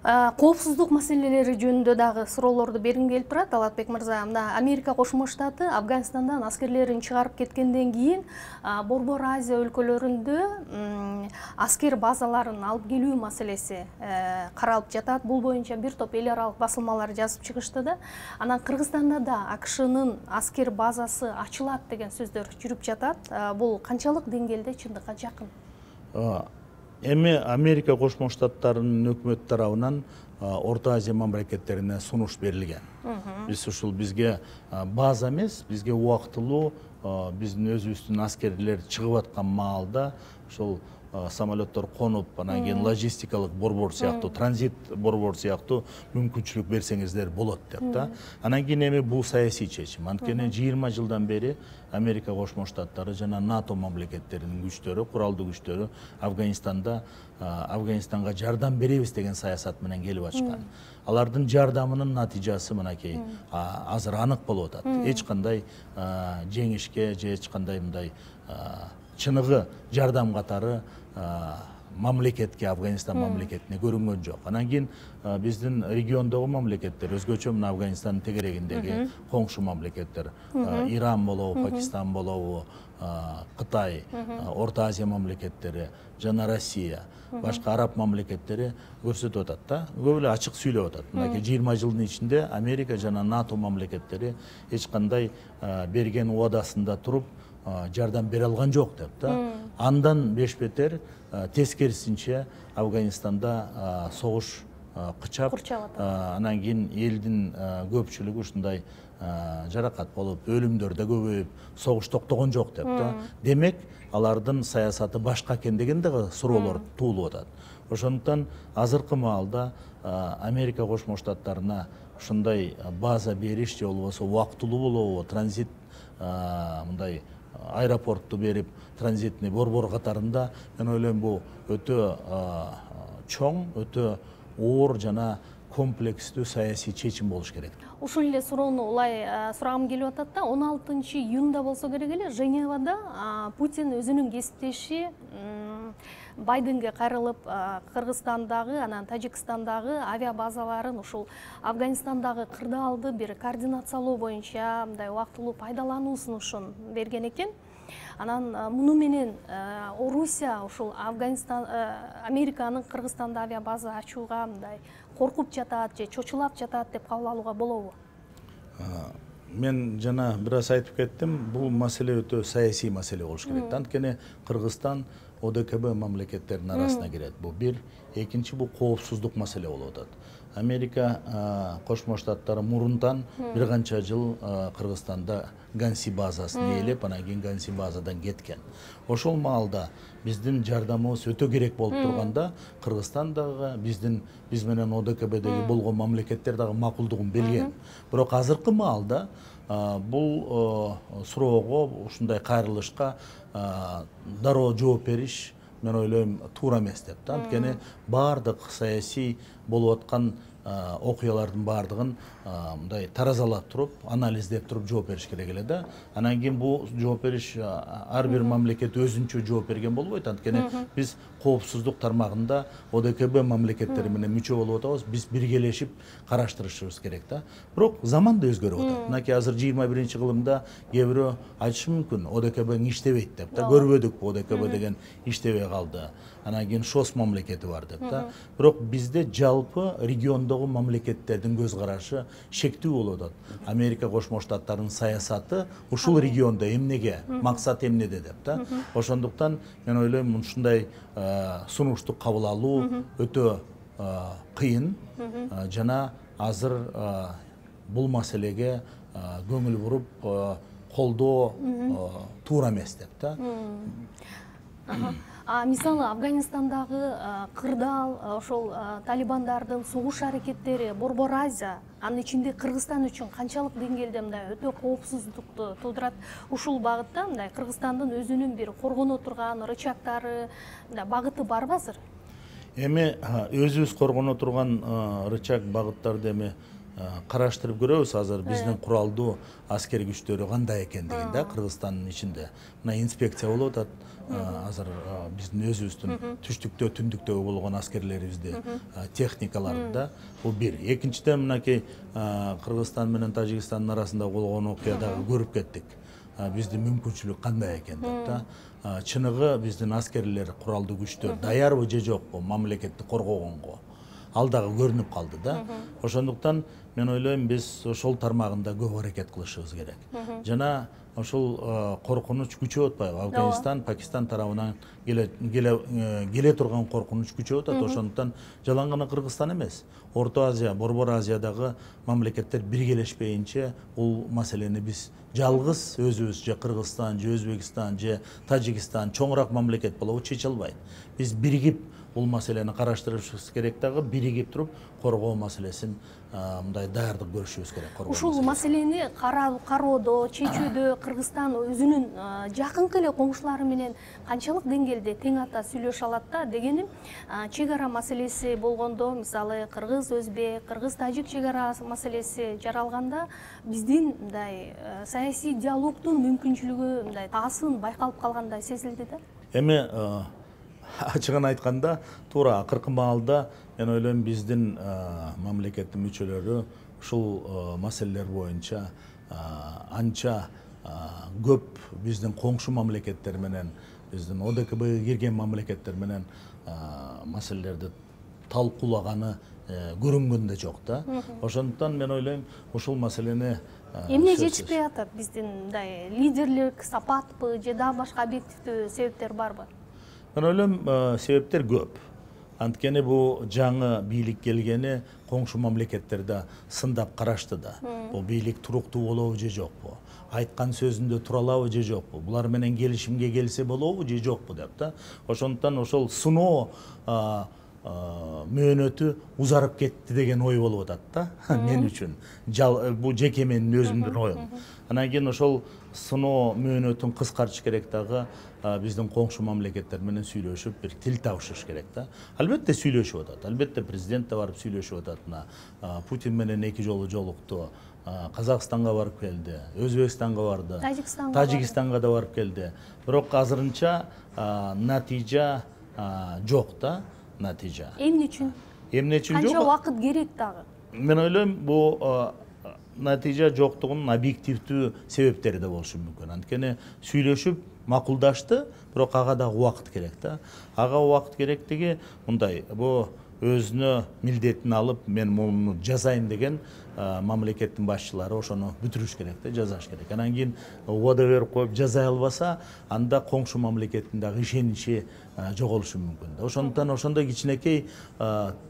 Коопсуздук маселелери жөнүндө дагы суроолорду бергим келип турат. Алатбек мырза, мына Америка Кошмо Штаты Афганистандан аскерлерин чыгарып кеткенден кийин Борбор Азия өлкөлөрүндө аскер базаларын алып келүү маселеси каралып жатат. Бул боюнча бир топ эл аралык басылмалар жазып чыгышты да. Анан Кыргызстанда да АКШнын аскер базасы ачылат деген сөздөр жүрүп жатат. Бул канчалык деңгээлде чындыкка жакын? Эми Америка Кошмо Штаттарынын өкмөт тарабынан Орто Азия мамлекеттерине сунуш берилген. Биз ушул бизге база эмес, бизге убактылуу биздин өзүбүздүн аскерлер чыгып аткан маалда ушул самолеттор конуп, анан кийин логистикалык борбор сыяктуу, транзит борбор сыяктуу мүмкүнчүлүк берсеңиздер болот деп да. Анан кийин эми бул саясий чечим. Анткени жыйырма жылдан бери Америка Кошмо Штаттары жана НАТО мамлекеттеринин күчтөрү, куралдуу күчтөрү Афганистанда Афганистанга жардам беребиз деген саясат менен келип ачкан. Алардын жардамынын натыйжасы мынакей азыр анык болуп атат. Эч кандай жеңишке же эч кандай мындай чыныгы жардам катары мамлекетке, Афганистан мамлекетине көрүнгөн жок. Анан кийин биздин региондогу мамлекеттер, өзгөчө мына Афганистандын тегерегиндеги коңшу мамлекеттер, Иран болобу, Пакистан болобу, Кытай, Орто Азия мамлекеттери жана Россия, башка араб мамлекеттери көрсөтүп атат да. Көп эле ачык сүйлөп атат. Мынакей жыйырма жылдын ичинде Америка жана НАТО мамлекеттери эч кандай берген убадасында туруп жардам бере алган жок деп да. Андан беш бетер тескерисинче Афганистанда согуш кычап, анан кийин элдин көпчүлүгү ушундай жаракат болуп, өлүмдөр да көбөйүп, согуш токтогон жок деп да. Демек, алардын саясаты башка экен деген дагы суроолор туулуп атат. Ошондуктан азыркы маалда Америка Кошмо Штаттарына ушундай база бериш же болбосо убактылуу болобу, транзит мындай аэропортту берип, транзитный борбор катарында мен ойлойм бул өтө чоң, өтө оор жана комплекстүү саясий чечим болуш керек. Ушул эле суроону улай сурагым келип атат да, он алтынчы июнда болсо керек эле Женевада Путин өзүнүн кесиптеши Байденге кайрылып, Кыргызстандагы, анан Тажикстандагы авиабазаларын ушул Афганистандагы кырдаалды бир координациялоо боюнча мындай убактылуу пайдалануу сунушун берген экен. Анан муну менен Орусия ушул Афганистан, Американын Кыргызстанда авиабаза ачууга мындай коркуп жатат же чочулап жатат деп кабыл алууга болобу? Мен жана бир аз айтып кеттим, бул маселе өтө саясий маселе болуш керек. Анткени Кыргызстан О Д К Б мамлекеттеринин арасына кирет. Бул бир, экинчи бул коопсуздук маселе болуп атат. Америка Кошмо Штаттары мурундан бир канча жыл Кыргызстанда Ганси базасын ээлеп, анан кийин Ганси базадан кеткен. Ошол маалда биздин жардамыбыз өтө керек болуп турганда, Кыргызстан дагы биздин биз менен О Д К Бдеги болгон мамлекеттер дагы макулдугун берген. Бирок азыркы маалда бул суроого, ушундай кайрылышка дароо жооп бериш мен ойлойм туура эмес деп. Анткени баардык саясий болуп аткан окуялардын баардыгын мындай таразалап туруп, анализдеп туруп жооп бериш керек эле да. Анан кийин бул жооп бериш ар бир мамлекет өзүнчө жооп берген болбойт. Анткени биз коопсуздук тармагында О Д К Б мамлекеттери менен мүчө болуп атабыз, биз биргелешип караштырышыбыз керек да. Бирок заман да өзгөрүп атат. Мынакей азыр жыйырма биринчи кылымда кээ бирөө айтышы мүмкүн, О Д К Б иштебейт деп да. Көрбөдүк О Д К Б деген иштебей калды. Анан кийин ШОС мамлекети бар деп да. Бирок бизде жалпы региондогу мамлекеттердин көз карашы шектүү болуп атат. Америка Кошмо Штаттарынын саясаты ушул региондо эмнеге, максат эмнеде деп да. Ошондуктан мен ойлойм ушундай сунушту кабыл алуу өтө кыйын жана азыр бул маселеге көңүл буруп колдоо туура эмес деп да. Мисалы Афганистандагы кырдаал, ошол талибандардын согуш аракеттери Борбор Азия, анын ичинде Кыргызстан үчүн канчалык деңгээлде мындай өтө коопсуздукту туудурат? Ушул багытта мындай Кыргызстандын өзүнүн бир коргоно турган рычагдары, мындай багыты барбы азыр? Эми өзүбүз коргоно турган рычаг багыттарды эми караштырып көрөбүз. Азыр биздин куралдуу аскер күчтөрү кандай экендигин да Кыргызстандын ичинде. Мына инспекция болуп атат. Азыр биздин өзүбүздүн түштүктө, түндүктөгү болгон аскерлерибизди, техникаларды да. Бул бир. Экинчиден мынакей Кыргызстан менен Тажикстандын арасында болгон окуядагы көрүп кеттик. Биздин мүмкүнчүлүк кандай экен деп да. Чыныгы биздин аскерлер, куралдуу күчтөр даярбы же жокпу мамлекетти коргогонго? Ал дагы көрүнүп калды да. Ошондуктан мен ойлойм биз ошол тармагында көп аракет кылышыбыз керек. Жана ошол коркунуч күчөп атпайбы? Афганистан, Пакистан тарабынан келе келе келе турган коркунуч күчөп атат. Ошондуктан жалаң гана Кыргызстан эмес, Орто Азия, Борбор Азиядагы мамлекеттер биргелешпейинче бул маселени биз жалгыз өзүбүз же Кыргызстан, же Өзбекстан, же Тажикстан чоңураак мамлекет болобу чече албайт. Биз биригип бул маселени караштырышыбыз керек дагы, биригип туруп коргоо маселесин мындай даярдык көрүшүбүз керек. Ушул маселени кароодо, чечүүдө Кыргызстан өзүнүн жакынкы эле коңшулары менен канчалык деңгээлде тең ата сүйлөшө алат да дегеним, чек ара маселеси болгондо, мисалы кыргыз өзбек, кыргыз тажик чек ара маселеси жаралганда биздин мындай саясий диалогдун мүмкүнчүлүгү мындай таасырын байкалып калгандай сезилди да. Эми ачыгын айтканда, туура акыркы маалда мен ойлойм биздин мамлекеттин мүчөлөрү ушул маселелер боюнча анча көп биздин коңшу мамлекеттер менен, биздин О Д К Б кирген мамлекеттер менен маселелерди талкуулаганы көрүнгөн да жок да. Ошондуктан мен ойлойм ушул маселени эмне жетишпей атат, биздин мындай лидерлик сапатпы же дагы башка объективдүү себептер барбы? Мен ойлойм себептер көп. Анткени бул жаңы бийлик келгени коңшу мамлекеттерде сындап карашты да. Бул бийлик туруктуу болобу же жокпу? Айткан сөзүндө тура алабы же жокпу? Булар менен келишимге келсе болобу же жокпу деп да. Ошондуктан ошол сыноо мөөнөтү узарып кетти деген ой болуп атат да мен үчүн. Бул жеке менин өзүмдүн оюм. Анан кийин ошол сыноо мөөнөтүн кыскартыш керек дагы биздин коңшу мамлекеттер менен сүйлөшүп бир тил табышыш керек да. Албетте сүйлөшүп атат. Албетте президент да барып сүйлөшүп атат. Мына Путин менен эки жолу жолукту. Казакстанга барып келди, Өзбекстанга барды, Тажикстанга да барып келди. Бирок азырынча натыйжа жок да. Натыйжа. Эмне үчүн? Эмне үчүн жок? Канча убакыт керек дагы? Мен ойлойм, бул натыйжа жоктугунун объективдүү себептери да болушу мүмкүн. Анткени сүйлөшүп макулдашты, бирок ага дагы убакыт керек да. Ага убакыт керектиги мындай, бул өзүнө милдетин алып, мен муну жасайм деген мамлекеттин башчылары ошону бүтүрүш керек да, жазаш керек. Анан кийин убада берип коюп жазай албаса, анда коңшу мамлекеттин дагы ишеничи жоголушу мүмкүн да. Ошондуктан ошондой кичинекей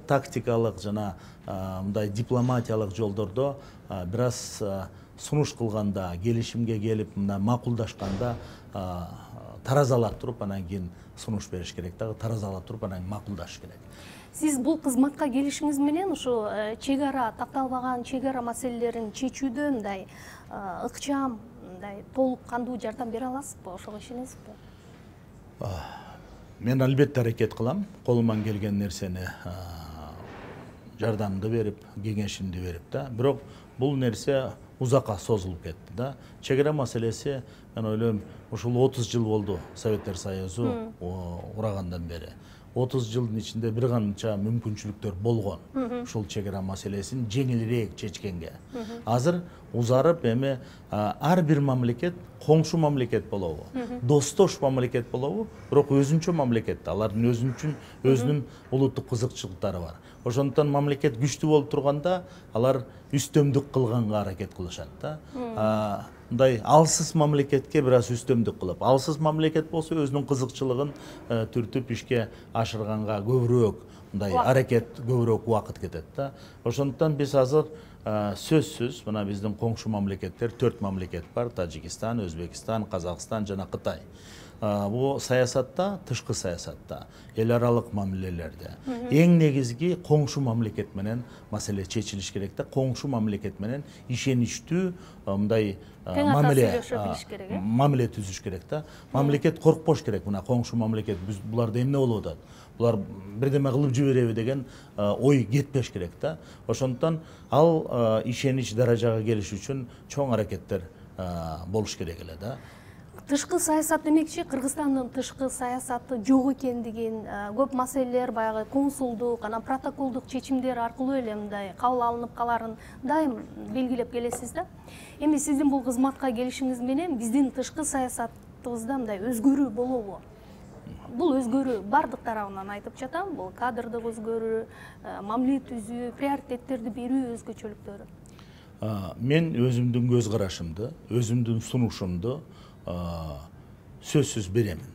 тактикалык жана мындай дипломатиялык жолдордо бир аз сунуш кылганда, келишимге келип, мына макулдашканда таразалап туруп, анан кийин сунуш бериш керек дагы, таразалап туруп, анан макулдашыш керек. Сиз бул кызматка келишиңиз менен ушу чек ара, такталбаган чек ара маселелерин чечүүдө мындай ыкчам, мындай толук кандуу жардам бере аласызбы? Ошого ишенесизби? Мен албетте аракет кылам, колуман келген нерсени жардамды берип, кеңешимди берип да. Бирок бул нерсе узакка созулуп кетти да. Чек ара маселеси, мен ойлойм, ушул отуз жыл болду Советтер Союзу урагандан бери. отуз жылдын ичинде бир канча мүмкүнчүлүктөр болгон. Ушул чек ара маселесин жеңилирээк чечкенге. Азыр узарып эми ар бир мамлекет коңшу мамлекет болобу, достош мамлекет болобу, бирок өзүнчө мамлекет. Алардын өзүнчүн өзүнүн улуттук кызыкчылыктары бар. Ошондуктан мамлекет күчтүү болуп турганда алар үстөмдүк кылганга аракет кылышат да. Мындай алсыз мамлекетке бир аз үстөмдүк кылып, алсыз мамлекет болсо өзүнүн кызыкчылыгын түртүп ишке ашырганга көбүрөөк мындай аракет, көбүрөөк убакыт кетет да. Ошондуктан биз азыр сөзсүз мына биздин коңшу мамлекеттер төрт мамлекет бар: Тажикстан, Өзбекстан, Казакстан жана Кытай. Бул саясатта, тышкы саясатта, эл аралык мамилелерде эң негизги коңшу мамлекет менен маселе чечилиш керек да. Коңшу мамлекет менен ишеничтүү мындай мамиле мамиле түзүш керек да. Мамлекет коркпош керек. Мына коңшу мамлекет буларда эмне болуп атат? Булар бирдеме кылып жибереби деген ой кетпеш керек да. Ошондуктан ал ишенич даражага келиш үчүн чоң аракеттер болуш керек эле да. Тышкы саясат демекчи, Кыргызстандын тышкы саясаты жок экендигин, көп маселелер баягы консулдук, анан протоколдук чечимдер аркылуу эле мындай кабыл алынып каларын дайым белгилеп келесиз да. Эми сиздин бул кызматка келишиңиз менен биздин тышкы саясатыбызда мындай өзгөрүү болобу? Бул өзгөрүү бардык тарабынан айтып жатам. Бул кадрдык өзгөрүү, мамиле түзүү, приоритеттерди берүү өзгөчөлүктөрү. мен өзүмдүн көз карашымды, өзүмдүн сунушумду сөзсүз беремин.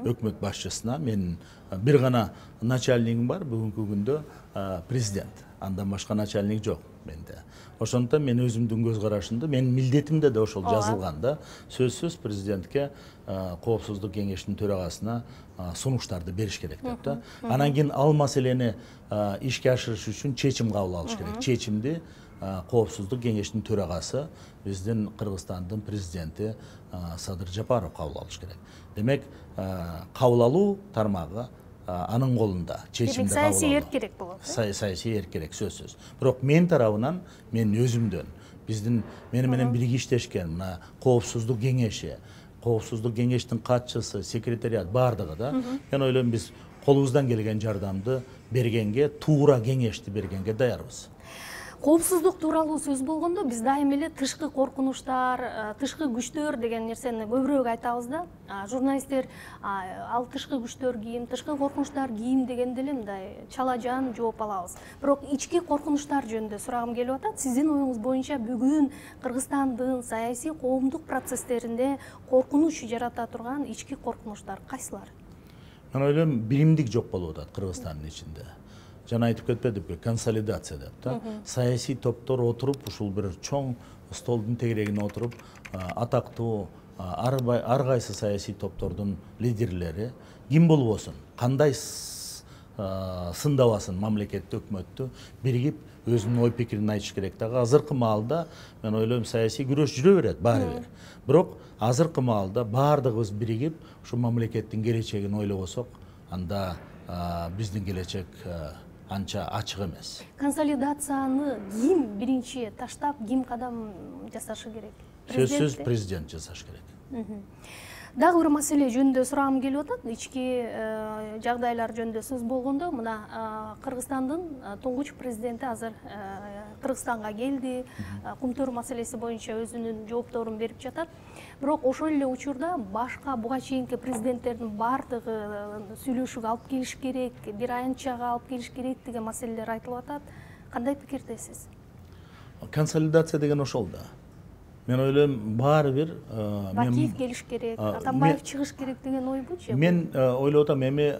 Өкмөт башчысына менин бир гана начальнигим бар, бүгүнкү күндө президент. Андан башка начальник жок менде. Ошондуктан мен өзүмдүн көз карашымды, менин милдетимде да ошол жазылган да, сөзсүз президентке Коопсуздук кеңешинин төрагасына сунуштарды бериш керек деп да. Анан кийин ал маселени ишке ашырыш үчүн чечим кабыл алыш керек. Чечимди Коопсуздук кеңешинин төрагасы, биздин Кыргызстандын президенти Садыр Жапаров кабыл алыш керек. Демек, кабыл алуу тармагы анын колунда. Чечимди кабыл алуу. Саясий эрк керек болот. Саясий эрк керек, сөзсүз. Бирок мен тарабынан, мен өзүмдөн, биздин мени менен бирге иштешкен мына Коопсуздук кеңеши, Коопсуздук кеңештин катчысы, секретариат бардыгы да, мен ойлойм биз колубуздан келген жардамды бергенге, туура кеңешти бергенге даярбыз. Коопсуздук тууралуу сөз болгондо биз дайым эле тышкы коркунучтар, тышкы күчтөр деген нерсени көбүрөөк айтабыз да. Журналисттер ал тышкы күчтөр кийим, тышкы коркунучтар кийим дегенде эле мындай чала жан жооп алабыз. Бирок ички коркунучтар жөнүндө сурагым келип атат. Сиздин оюңуз боюнча бүгүн Кыргызстандын саясий коомдук процесстеринде коркунуч жарата турган ички коркунучтар кайсылар? Мен ойлойм, биримдик жок болуп атат Кыргызстандын ичинде. Жана айтып кетпедикпи, консолидация деп да. Саясий топтор отуруп, ушул бир чоң столдун тегерегине отуруп, атактуу ар кайсы саясий топтордун лидерлери ким болбосун, кандай сындабасын мамлекетти, өкмөттү биригип өзүнүн ой пикирин айтыш керек. Дагы азыркы маалда мен ойлойм, саясий күрөш жүрө берет баары бир. Бирок азыркы маалда баардыгыбыз биригип ушу мамлекеттин келечегин ойлобосок, анда биздин келечек анча ачык эмес. Консолидацияны ким биринчи таштап, ким кадам жасашы керек? Сөзсүз президент жасаш керек. Дагы бир маселе жөнүндө сурагым келип атат. Ички жагдайлар жөнүндө сөз болгондо, мына Кыргызстандын туңгуч президенти азыр Кыргызстанга келди, кумтөр маселеси боюнча өзүнүн жоопторун берип жатат. Бирок ошол эле учурда башка буга чейинки президенттердин бардыгы сүйлөшүүгө алып келиш керек, бир аянтчага алып келиш керек деген маселелер айтылып атат. Кандай пикирдесиз? Консолидация деген ошол да. Мен ойлойм, баары бир Бакиев келиш керек, Атамбаев чыгыш керек деген ойбу же? Мен ойлоп атам, эми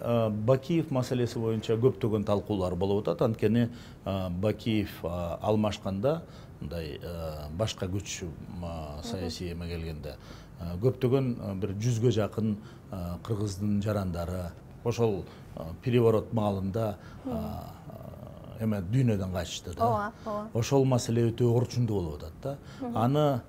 Бакиев маселеси боюнча көптөгөн талкуулар болуп атат. Анткени Бакиев алмашканда, мындай башка күч саясий эме келгенде, көптөгөн бир жүзгө жакын кыргыздын жарандары ошол переворот маалында эме дүйнөдөн качышты да. Ошол маселе өтө орчундуу болуп атат да. Аны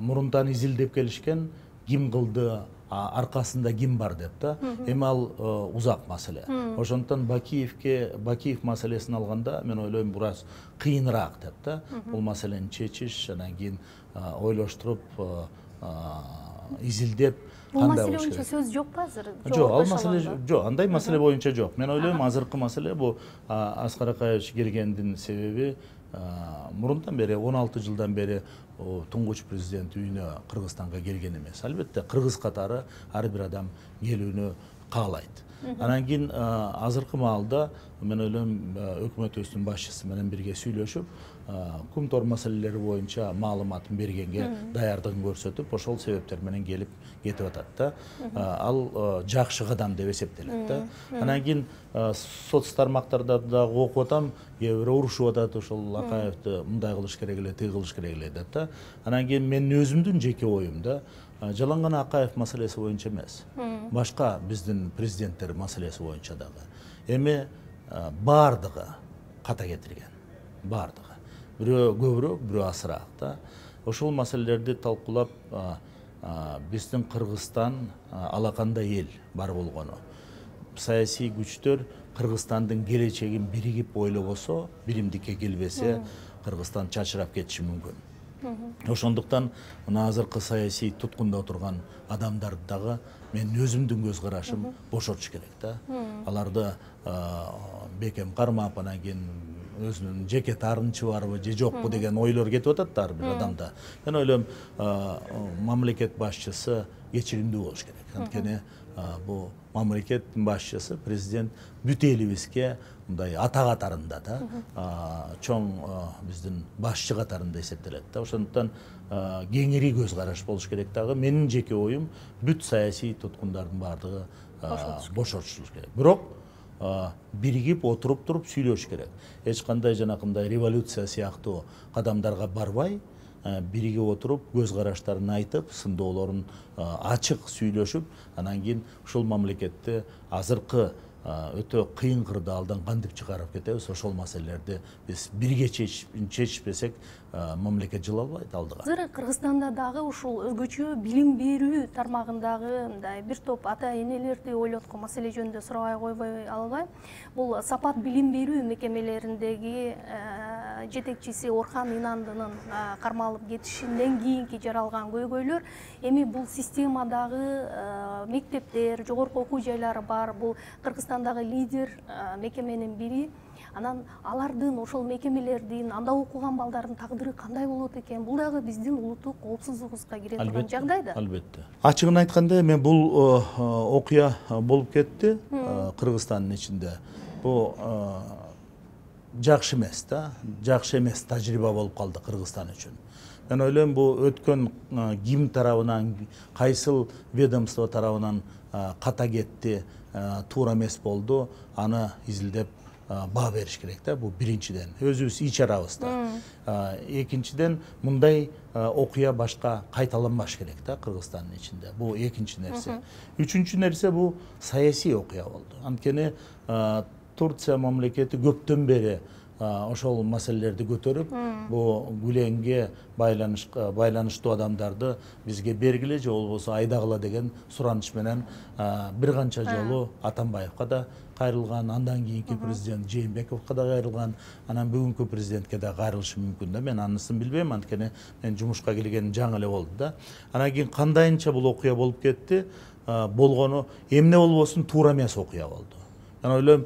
мурунтан изилдеп келишкен, ким кылды, аркасында ким бар деп да. Эми ал узак маселе. Ошондуктан Бакиевке, Бакиев маселесин алганда, мен ойлойм, бираз кыйыныраак деп да. Бул маселени чечиш, анан кийин ойлоштуруп, изилдеп, бул маселе боюнча сөз жокпу азыр? Жок, ал маселе жок, андай маселе боюнча жок. Мен ойлойм, азыркы маселе бул Аскар Акаевич келгендин себеби мурунтан бери, он алты жылдан бери туңгуч президент үйүнө Кыргызстанга келген эмес. Албетте, кыргыз катары ар бир адам келүүнү каалайт. Анан кийин азыркы маалда мен ойлойм, өкмөтүбүздүн башчысы менен бирге сүйлөшүп, кумтор маселелери боюнча маалыматын бергенге даярдыгын көрсөтүп, ошол себептер менен келип кетип атат да. Ал жакшы кадам деп эсептелет да. Анан кийин соц тармактарда дагы окуп атам, кээ бирөө урушуп атат, ошол Акаевди мындай кылыш керек эле, тиги кылыш керек эле деп да. Анан кийин менин өзүмдүн жеке оюм да, жалаң гана Акаев маселеси боюнча эмес, башка биздин президенттер маселеси боюнча дагы эми баардыгы ката кетирген, баардыгы. Бирөө көбүрөөк, бирөө азыраак да. Ошол маселелерди талкуулап, биздин Кыргызстан алакандай эл бар болгону, саясий күчтөр Кыргызстандын келечегин биригип ойлобосо, биримдикке келбесе, Кыргызстан чачырап кетиши мүмкүн. Ошондуктан мына азыркы саясий туткунда турган адамдарды дагы мен өзүмдүн көз карашым бошотуш керек да. Аларды бекем кармап, анан кийин өзүнүн жеке таарынычы барбы же жокпу деген ойлор кетип атат да ар бир адамда. Мен ойлойм, мамлекет башчысы кечиримдүү болуш керек. Анткени бул мамлекеттин башчысы президент бүт элибизге мындай ата катарында да чоң биздин башчы катарында эсептелет да. Ошондуктан кеңири көз караш болуш керек дагы. Менин жеке оюм бүт саясий туткундардын баардыгы бошотушулуш керек. Бирок биригип отуруп туруп сүйлөш керек. Эч кандай жанакындай революция сыяктуу кадамдарга барбай, биригип отуруп көз караштарын айтып, сындоолорун ачык сүйлөшүп, анан кийин ушул мамлекетти азыркы өтө кыйын кырдаалдан кантип чыгарып кетебиз, ошол маселелерди биз бирге чечишпесек, мамлекет жыла албайт алдыга. Азыр Кыргызстанда дагы ушул өзгөчө билим берүү тармагындагы мындай бир топ ата энелерди ойлоткон маселе жөнүндө сурабай койбой албайм. Бул Сапат билим берүү мекемелериндеги жетекчиси Орхан Инандынын кармалып кетишинден кийинки жаралган көйгөйлөр, эми бул системадагы мектептер, жогорку окуу жайлары бар, бул Кыргызстандагы лидер мекеменин бири. Анан алардын, ошол мекемелердин, анда окуган балдардын тагдыры кандай болот экен? Бул дагы биздин улуттук коопсуздугубузга кире турган жагдай да. Албетте. Ачыгын айтканда, мен бул окуя болуп кетти Кыргызстандын ичинде. Бул жакшы эмес да, жакшы эмес тажрыйба болуп калды Кыргызстан үчүн. Мен ойлойм, бул өткөн ким тарабынан, кайсыл ведомство тарабынан ката кетти, туура эмес болду, аны изилдеп баа бериш керек да. Бул биринчиден өзүбүз ич арабызда. Экинчиден, мындай окуя башка кайталанбаш керек да Кыргызстандын ичинде. Бул экинчи нерсе. Үчүнчү нерсе бул саясий окуя болду. Анткени Турция мамлекети көптөн бери ошол маселелерди көтөрүп, бул Гүленге байланыштуу адамдарды бизге бергиле же болбосо айдагыла деген сураныш менен бир канча жолу Атамбаевка да кайрылган, андан кийинки президент Жээнбековго да кайрылган, анан бүгүнкү президентке да кайрылышы мүмкүн да. Мен анысын билбейм, анткени мен жумушка келген жаңы эле болду да. Анан кийин кандайынча бул окуя болуп кетти, болгону эмне болбосун туура эмес окуя болду. Мен ойлойм,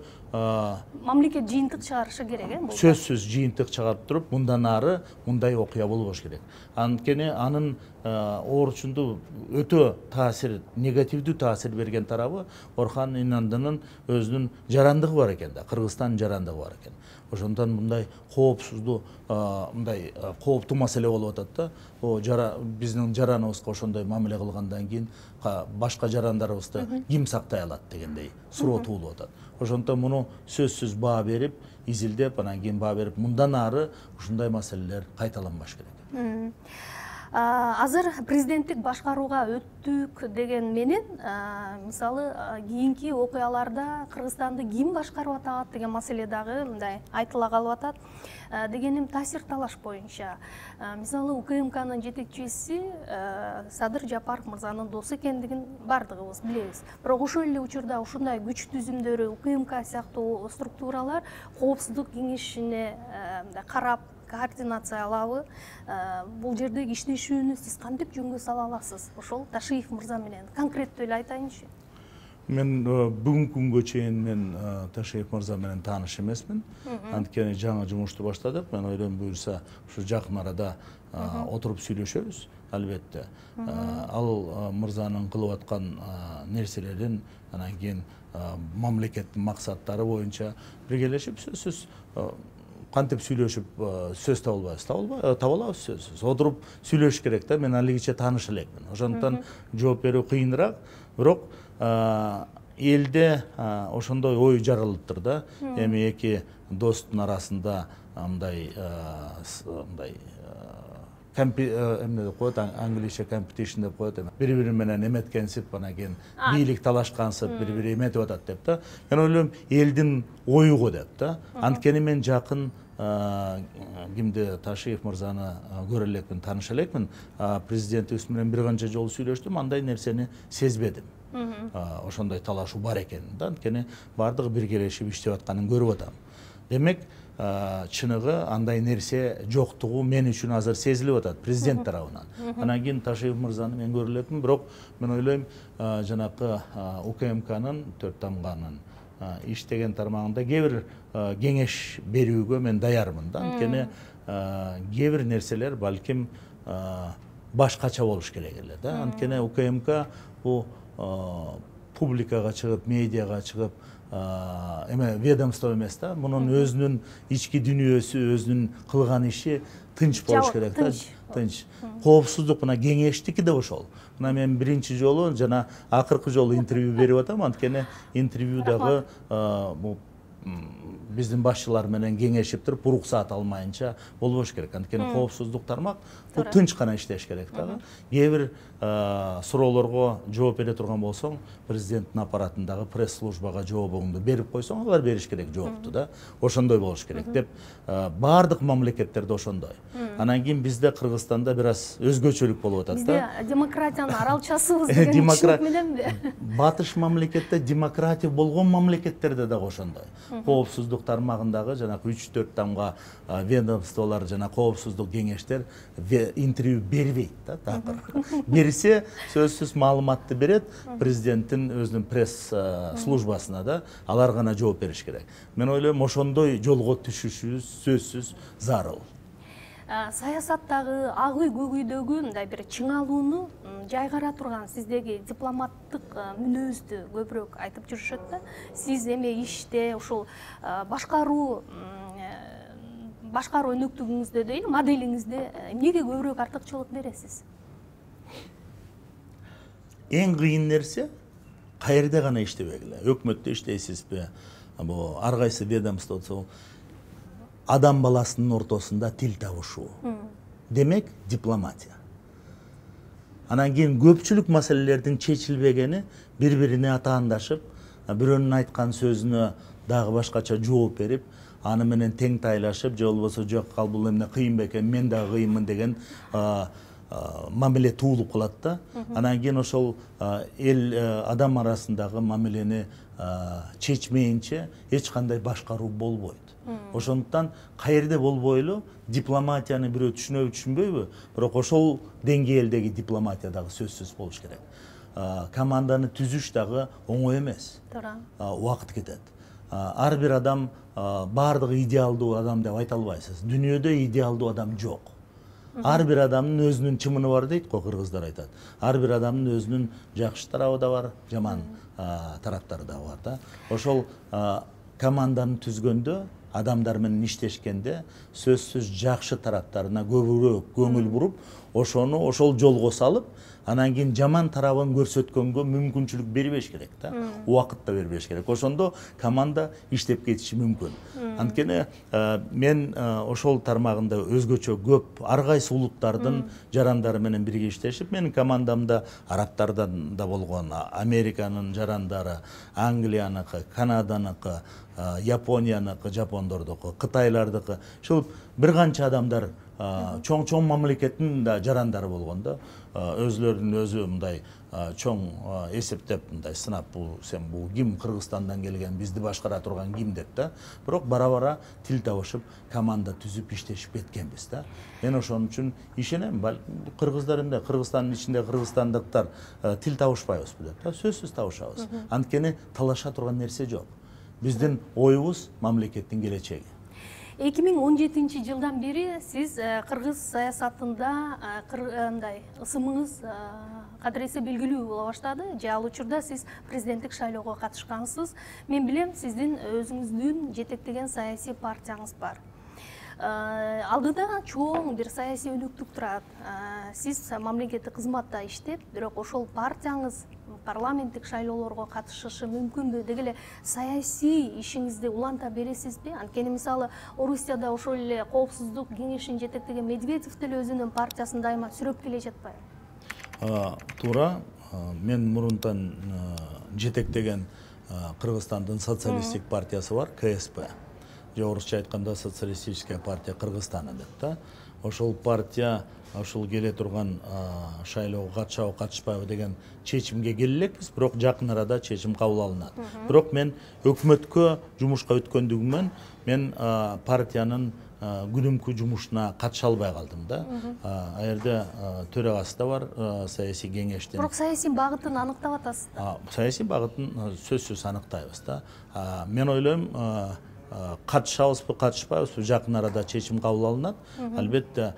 мамлекет жыйынтык чыгарышы керек, э? Сөзсүз жыйынтык чыгарып туруп, мындан ары мындай окуя болбош керек. Анткени анын оорчунду өтө таасир, негативдүү таасир берген тарабы Орхан Инандынын өзүнүн жарандыгы бар экен да, Кыргызстандын жарандыгы бар экен. Ошондон мындай коопсуздуу, мындай кооптуу маселе болуп атат да. О жара биздин жараныбызга ошондой мамиле кылгандан кийин башка жарандарыбызды ким сактай алат дегендей суроо туулуп атат. Ошондон муну сөзсүз баа берип, изилдеп, анан кийин баа берип, мындан ары ушундай маселелер кайталанбаш керек. Азыр президенттик башкарууга өттүк деген менен, мисалы, кийинки окуяларда Кыргызстанды ким башкарып атат деген маселе дагы мындай айтыла калып атат. Дегеним, таасир талаш боюнча, мисалы, УКМКнын жетекчиси Садыр Жапаров мырзанын досу экендигин бардыгыбыз билебиз. Бирок ошол эле учурда ушундай күч түзүмдөрү, УКМК сыяктуу структуралар коопсуздук кеңешине карап, координациялабы, бул жердеги иштешүүнү сиз кантип жөнгө сала аласыз? Ошол Ташиев мырза менен конкреттүү эле айтайынчы. Мен бүгүнкү күнгө чейин мен Ташиев мырза менен тааныш эмесмин. Анткени жаңы жумушту баштадык. Мен ойлойм, буюрса ушу жакын арада отуруп сүйлөшөбүз, албетте. Ал мырзанын кылып аткан нерселерин, анан кийин мамлекеттин максаттары боюнча биргелешип, сөзсүз кантип сүйлөшүп сөз таба албайбыз, таба алабыз сөзсүз. Отуруп сүйлөш керек да. Мен алигиче тааныш элекмин. Ошондуктан жооп берүү кыйыныраак, бирок элде ошондой ой жаралыптыр да. Эми эки достун арасында мындай мындай эмне деп коет, английче competition деп коет, бири-бири менен эметкенсип, анан кийин бийлик талашкансып, бири-бири эметип атат деп да. Мен ойлойм, элдин ою го деп да. Анткени мен жакын кимди, Ташиев мырзаны көрө элекмин, тааныша элекмин. Президентибиз менен бир канча жолу сүйлөштүм, андай нерсени сезбедим. Ошондой талашуу бар экенин да. Анткени бардыгы биргелешип иштеп атканын көрүп атам. Демек, чыныгы андай нерсе жоктугу мен үчүн азыр сезилип атат президент тарабынан. Анан кийин Ташиев мырзаны мен көрө элекмин, бирок мен ойлойм, жанакы УКМКнын төрт тамганын иштеген тармагында кээ бир кеңеш берүүгө мен даярмын да. Анткени кээ бир нерселер балким башкача болуш керек эле да. Анткени УКМК бул публикага чыгып, медиага чыгып, эме ведомство эмес да, мунун өзүнүн ички дүнүйөсү, өзүнүн кылган иши тынч болуш керек да, тынч. Коопсуздук мына кеңештики да ошол. Мына мен биринчи жолу жана акыркы жолу интервью берип атам, анткени интервьюдагы бул биздин башчылар менен кеңешип туруп, уруксаат алмайынча болбош керек. Анткени коопсуздук тармак бул тынч гана иштеш керек да. Кээ бир суроолорго жооп бере турган болсоң, президенттин аппаратындагы пресс-службага жообуңду берип койсоң, алар бериш керек жоопту да. Ошондой болуш керек деп, баардык мамлекеттерде ошондой. Анан кийин бизде Кыргызстанда бир аз өзгөчөлүк болуп атат да. Бизде демократиянын аралчасыбыз деген түшүнүк мененби? Батыш мамлекетте демократия болгон мамлекеттерде дагы ошондой. Коопсуздук тармагындагы жанагы үч төрт тамга ведомстволор жана коопсуздук кеңештер интервью бербейт да, такыр. Берсе, сөзсүз маалыматты берет, президенттин өзүнүн пресс службасына да, алар гана жооп бериш керек. Мен ойлойм, ошондой жолго түшүшүбүз сөзсүз зарыл. Саясаттагы ак үй көк үйдөгү мындай бир чыңалууну жайгара турган сиздеги дипломаттык мүнөздү көбүрөөк айтып жүрүшөт да. Сиз эми иште ушул башкаруу башкаруу өнөктүгүңүздө дейли, моделиңизде эмнеге көбүрөөк артыкчылык бересиз? Эң кыйын нерсе каерде гана иштебегиле. Өкмөттө иштейсизби, бул ар кайсы ведомстводо адам баласынын ортосунда тил табышуу. Демек, дипломатия. Анан кийин көпчүлүк маселелердин чечилбегени бири-бирине атаандашып, бирөөнүн айткан сөзүнө дагы башкача жооп берип, аны менен тең тайлашып, же болбосо жок, ал бул эмне кыйын бекен, мен дагы кыйынмын деген мамиле туулуп калат да. Анан кийин ошол эл адам арасындагы мамилени чечмейинче эч кандай башкаруу болбойт. Ошондуктан каерде болбойлу дипломатияны бирөө түшүнөбү түшүнбөйбү, бирок ошол деңгээлдеги дипломатия дагы сөзсүз болуш керек. Команданы түзүш дагы оңой эмес. Туура. Убакыт кетет. Ар бир адам баардыгы идеалдуу адам деп айта албайсыз. Дүйнөдө идеалдуу адам жок. Ар бир адамдын өзүнүн чымыны бар дейт го, кыргыздар айтат. Ар бир адамдын өзүнүн жакшы тарабы да бар, жаман тараптары да бар да. Ошол команданы түзгөндө, адамдар менен иштешкенде сөзсүз жакшы тараптарына көбүрөөк көңүл буруп, ошону ошол жолго салып, анан кийин жаман тарабын көрсөткөнгө мүмкүнчүлүк бербеш керек да. Убакыт да бербеш керек. Ошондо команда иштеп кетиши мүмкүн. Анткени мен ошол тармагында өзгөчө көп ар кайсы улуттардын жарандары менен бирге иштешип, менин командамда арабтардан да болгон, Американын жарандары, Англияныкы, Канаданыкы, Японияныкы, жапондордуку, Кытайлардыкы, ушул бир канча адамдар чоң-чоң мамлекеттин да жарандары болгон да. Өзлөрүнүн өзү мындай чоң эсептеп, мындай сынап, бул сен бул ким, Кыргызстандан келген, бизди башкара турган ким деп да. Бирок бара-бара тил табышып, команда түзүп иштешип кеткенбиз да. Мен ошон үчүн ишенем, кыргыздар эмне, Кыргызстандын ичинде кыргызстандыктар тил табышпайбызбы деп да. Сөзсүз табышабыз. Анткени талаша турган нерсе жок. Биздин оюбуз мамлекеттин келечеги. эки миң он жетинчи жылдан бери сиз кыргыз саясатында мындай ысымыңыз кадыресе белгилүү боло баштады. Же ал учурда сиз президенттик шайлоого катышкансыз. Мен билем, сиздин өзүңүздүн жетектеген саясий партияңыз бар. Алдыда чоң бир саясий өнөктүк турат. Сиз мамлекеттик кызматта иштеп, бирок ошол партияңыз парламенттик шайлоолорго катышышы мүмкүнбү? Деги эле саясий ишиңизди уланта бересизби? Анткени мисалы Орусияда ошол эле коопсуздук кеңешин жетектеген Медведев деле өзүнүн партиясын дайыма сүрөп келе жатпайбы? Туура. Мен мурунтан жетектеген Кыргызстандын социалисттик партиясы бар, ка эс пэ. Же орусча айтканда социалистическая партия Кыргызстана деп да. Ошол партия ошол келе турган шайлоого катышабы, катышпайбы деген чечимге келе элекпиз, бирок жакын арада чечим кабыл алынат. Бирок мен өкмөткө жумушка өткөндүгүмөн мен партиянын күнүмкү жумушуна катыша албай калдым да. А жерде төрагасы да бар саясий кеңештин. Бирок саясий багытын аныктап атасыз. Саясий багытын сөзсүз аныктайбыз да. Мен ойлойм, катышабызбы, катышпайбызбы, жакын арада чечим кабыл алынат. Албетте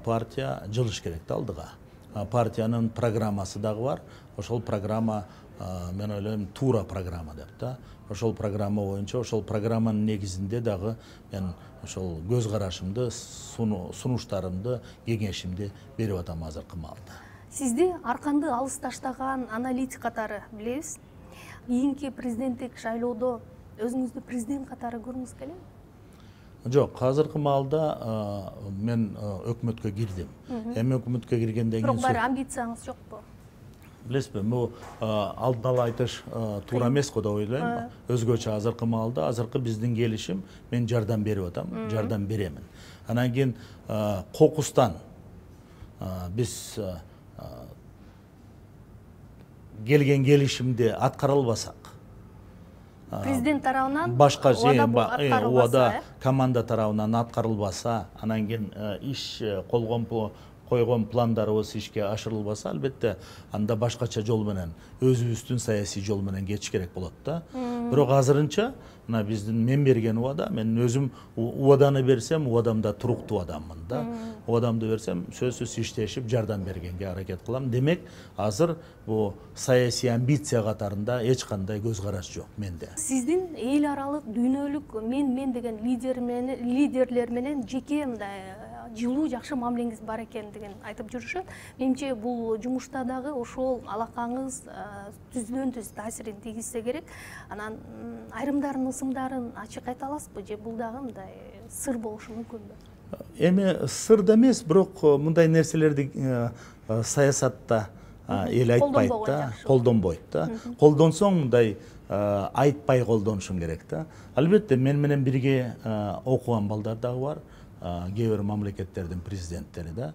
партия жылыш керек да алдыга. партиянын программасы дагы бар. Ошол программа мен ойлойм туура программа деп да. Ошол программа боюнча, ошол программанын негизинде дагы мен ошол көз карашымды, сунуштарымды, кеңешимди берип атам азыркы маалда. Сизди арканды алыс таштаган аналитик катары билебиз. Кийинки президенттик шайлоодо өзүңүздү президент катары көргүңүз келеби? Жок, азыркы маалда мен өкмөткө кирдим. Эми өкмөткө киргенден кийин бирок баары амбицияңыз жокпу? Билесизби, бул алдын ала айтыш туура эмес го деп ойлойм. Өзгөчө азыркы маалда, азыркы биздин келишим, мен жардам берип атам, жардам беремин. Анан кийин кокустан биз келген келишимди аткара албасак, президент тарабынан башка убада команда тарабынан аткарылбаса, анан кийин иш колгон койгон пландарыбыз ишке ашырылбаса, албетте анда башкача жол менен, өзүбүздүн саясий жол менен кетиш керек болот да. Бирок азырынча мына биздин мен берген убада, мен өзүм убаданы берсем, убадамда туруктуу адаммын да. Убадамды берсем, сөзсүз иштешип жардам бергенге аракет кылам. Демек, азыр бул саясий амбиция катарында эч кандай көз караш жок менде. Сиздин эл аралык, дүйнөлүк мен мен деген лидерлер менен жеке мындай жылуу жакшы мамилеңиз бар экендигин айтып жүрүшөт. Менимче бул жумушта дагы ошол алакаңыз түздөн түз таасирин тийгизсе керек. Анан айрымдарын ысымдарын ачык айта аласызбы же бул дагы мындай сыр болушу мүмкүнбү? Эми сыр да эмес, бирок мындай нерселерди саясатта эл айтпайт да, колдонбойт да. Колдонсоң мындай айтпай колдонушуң керек да. Албетте мен менен бирге окуган балдар дагы бар. Кээ бир мамлекеттердин президенттери да.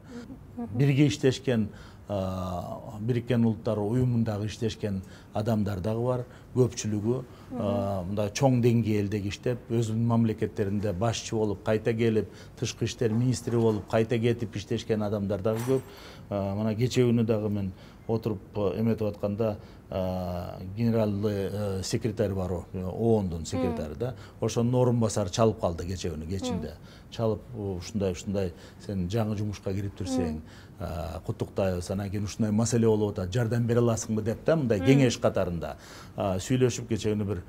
Бирге иштешкен, Бириккен Улуттар уюмундагы иштешкен адамдар дагы бар. Көпчүлүгү мындай чоң деңгээлдеги иштеп, өзүнүн мамлекеттеринде башчы болуп, кайта келип, тышкы иштер министри болуп, кайта кетип иштешкен адамдар дагы көп. Мына кечээ күнү дагы мен отуруп эметип атканда генералдык секретарь бар, оондун секретары да. Ошонун орун басары чалып калды кечээ күнү кечинде. Чалып, ушундай ушундай сен жаңы жумушка кирип жүрсөң, куттуктайбыз, анан кийин ушундай маселе болуп атат, жардам бере аласыңбы деп да, мындай кеңеш катарында сүйлөшүп, кечээ күнү бир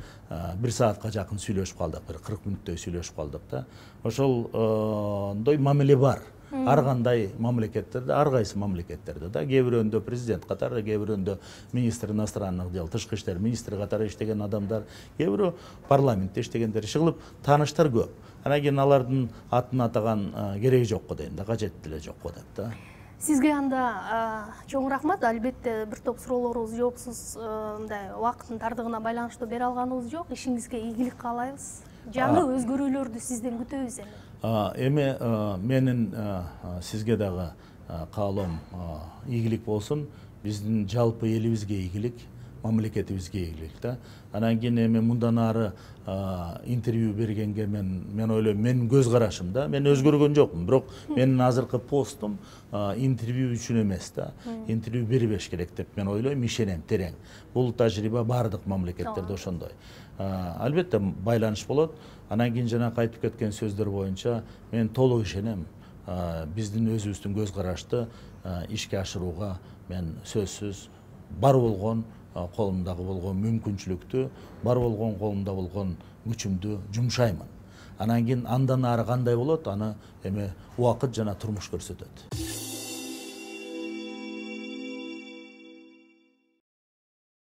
бир саатка жакын сүйлөшүп калдык, бир кырк мүнөттөй сүйлөшүп калдык да. Ошолдой мамиле бар. Ар кандай мамлекеттерде, ар кайсы мамлекеттерде да, кээ бирөөндө президент катары, кээ бирөөндө министр иностранных дел, тышкы иштер министри катары иштеген адамдар, кээ бирөө парламентте иштегендер, иши тааныштар көп. Анан кийин алардын атын атаган кереги жок го дейм да, кажети деле жок го деп да. Сизге анда чоң рахмат. Албетте бир топ суроолорубуз жоопсуз мындай убакыттын тардыгына байланыштуу бере алганыбыз жок. Ишиңизге ийгилик каалайбыз. Жаңы өзгөрүүлөрдү сизден күтөбүз эми. Эми менин сизге дагы каалоом ийгилик болсун, биздин жалпы элибизге ийгилик, мамлекетибизге ийгилик да. Анан кийин эми мындан ары интервью бергенге мен мен ойлойм, менин көз карашым да, мен өзгөргөн жокмун, бирок менин азыркы постум интервью үчүн эмес да, интервью бербеш керек деп мен ойлойм, ишенем терең. Бул тажрыйба бардык мамлекеттерде ошондой. Албетте байланыш болот. Анан кийин жана кайтып кеткен сөздөр боюнча мен толук ишенем. Биздин өзүбүздүн көз карашты ишке ашырууга мен сөзсүз бар болгон колумдагы болгон мүмкүнчүлүктү, бар болгон колумда болгон күчүмдү жумшаймын. Анан кийин андан ары кандай болот, аны эми убакыт жана турмуш көрсөтөт.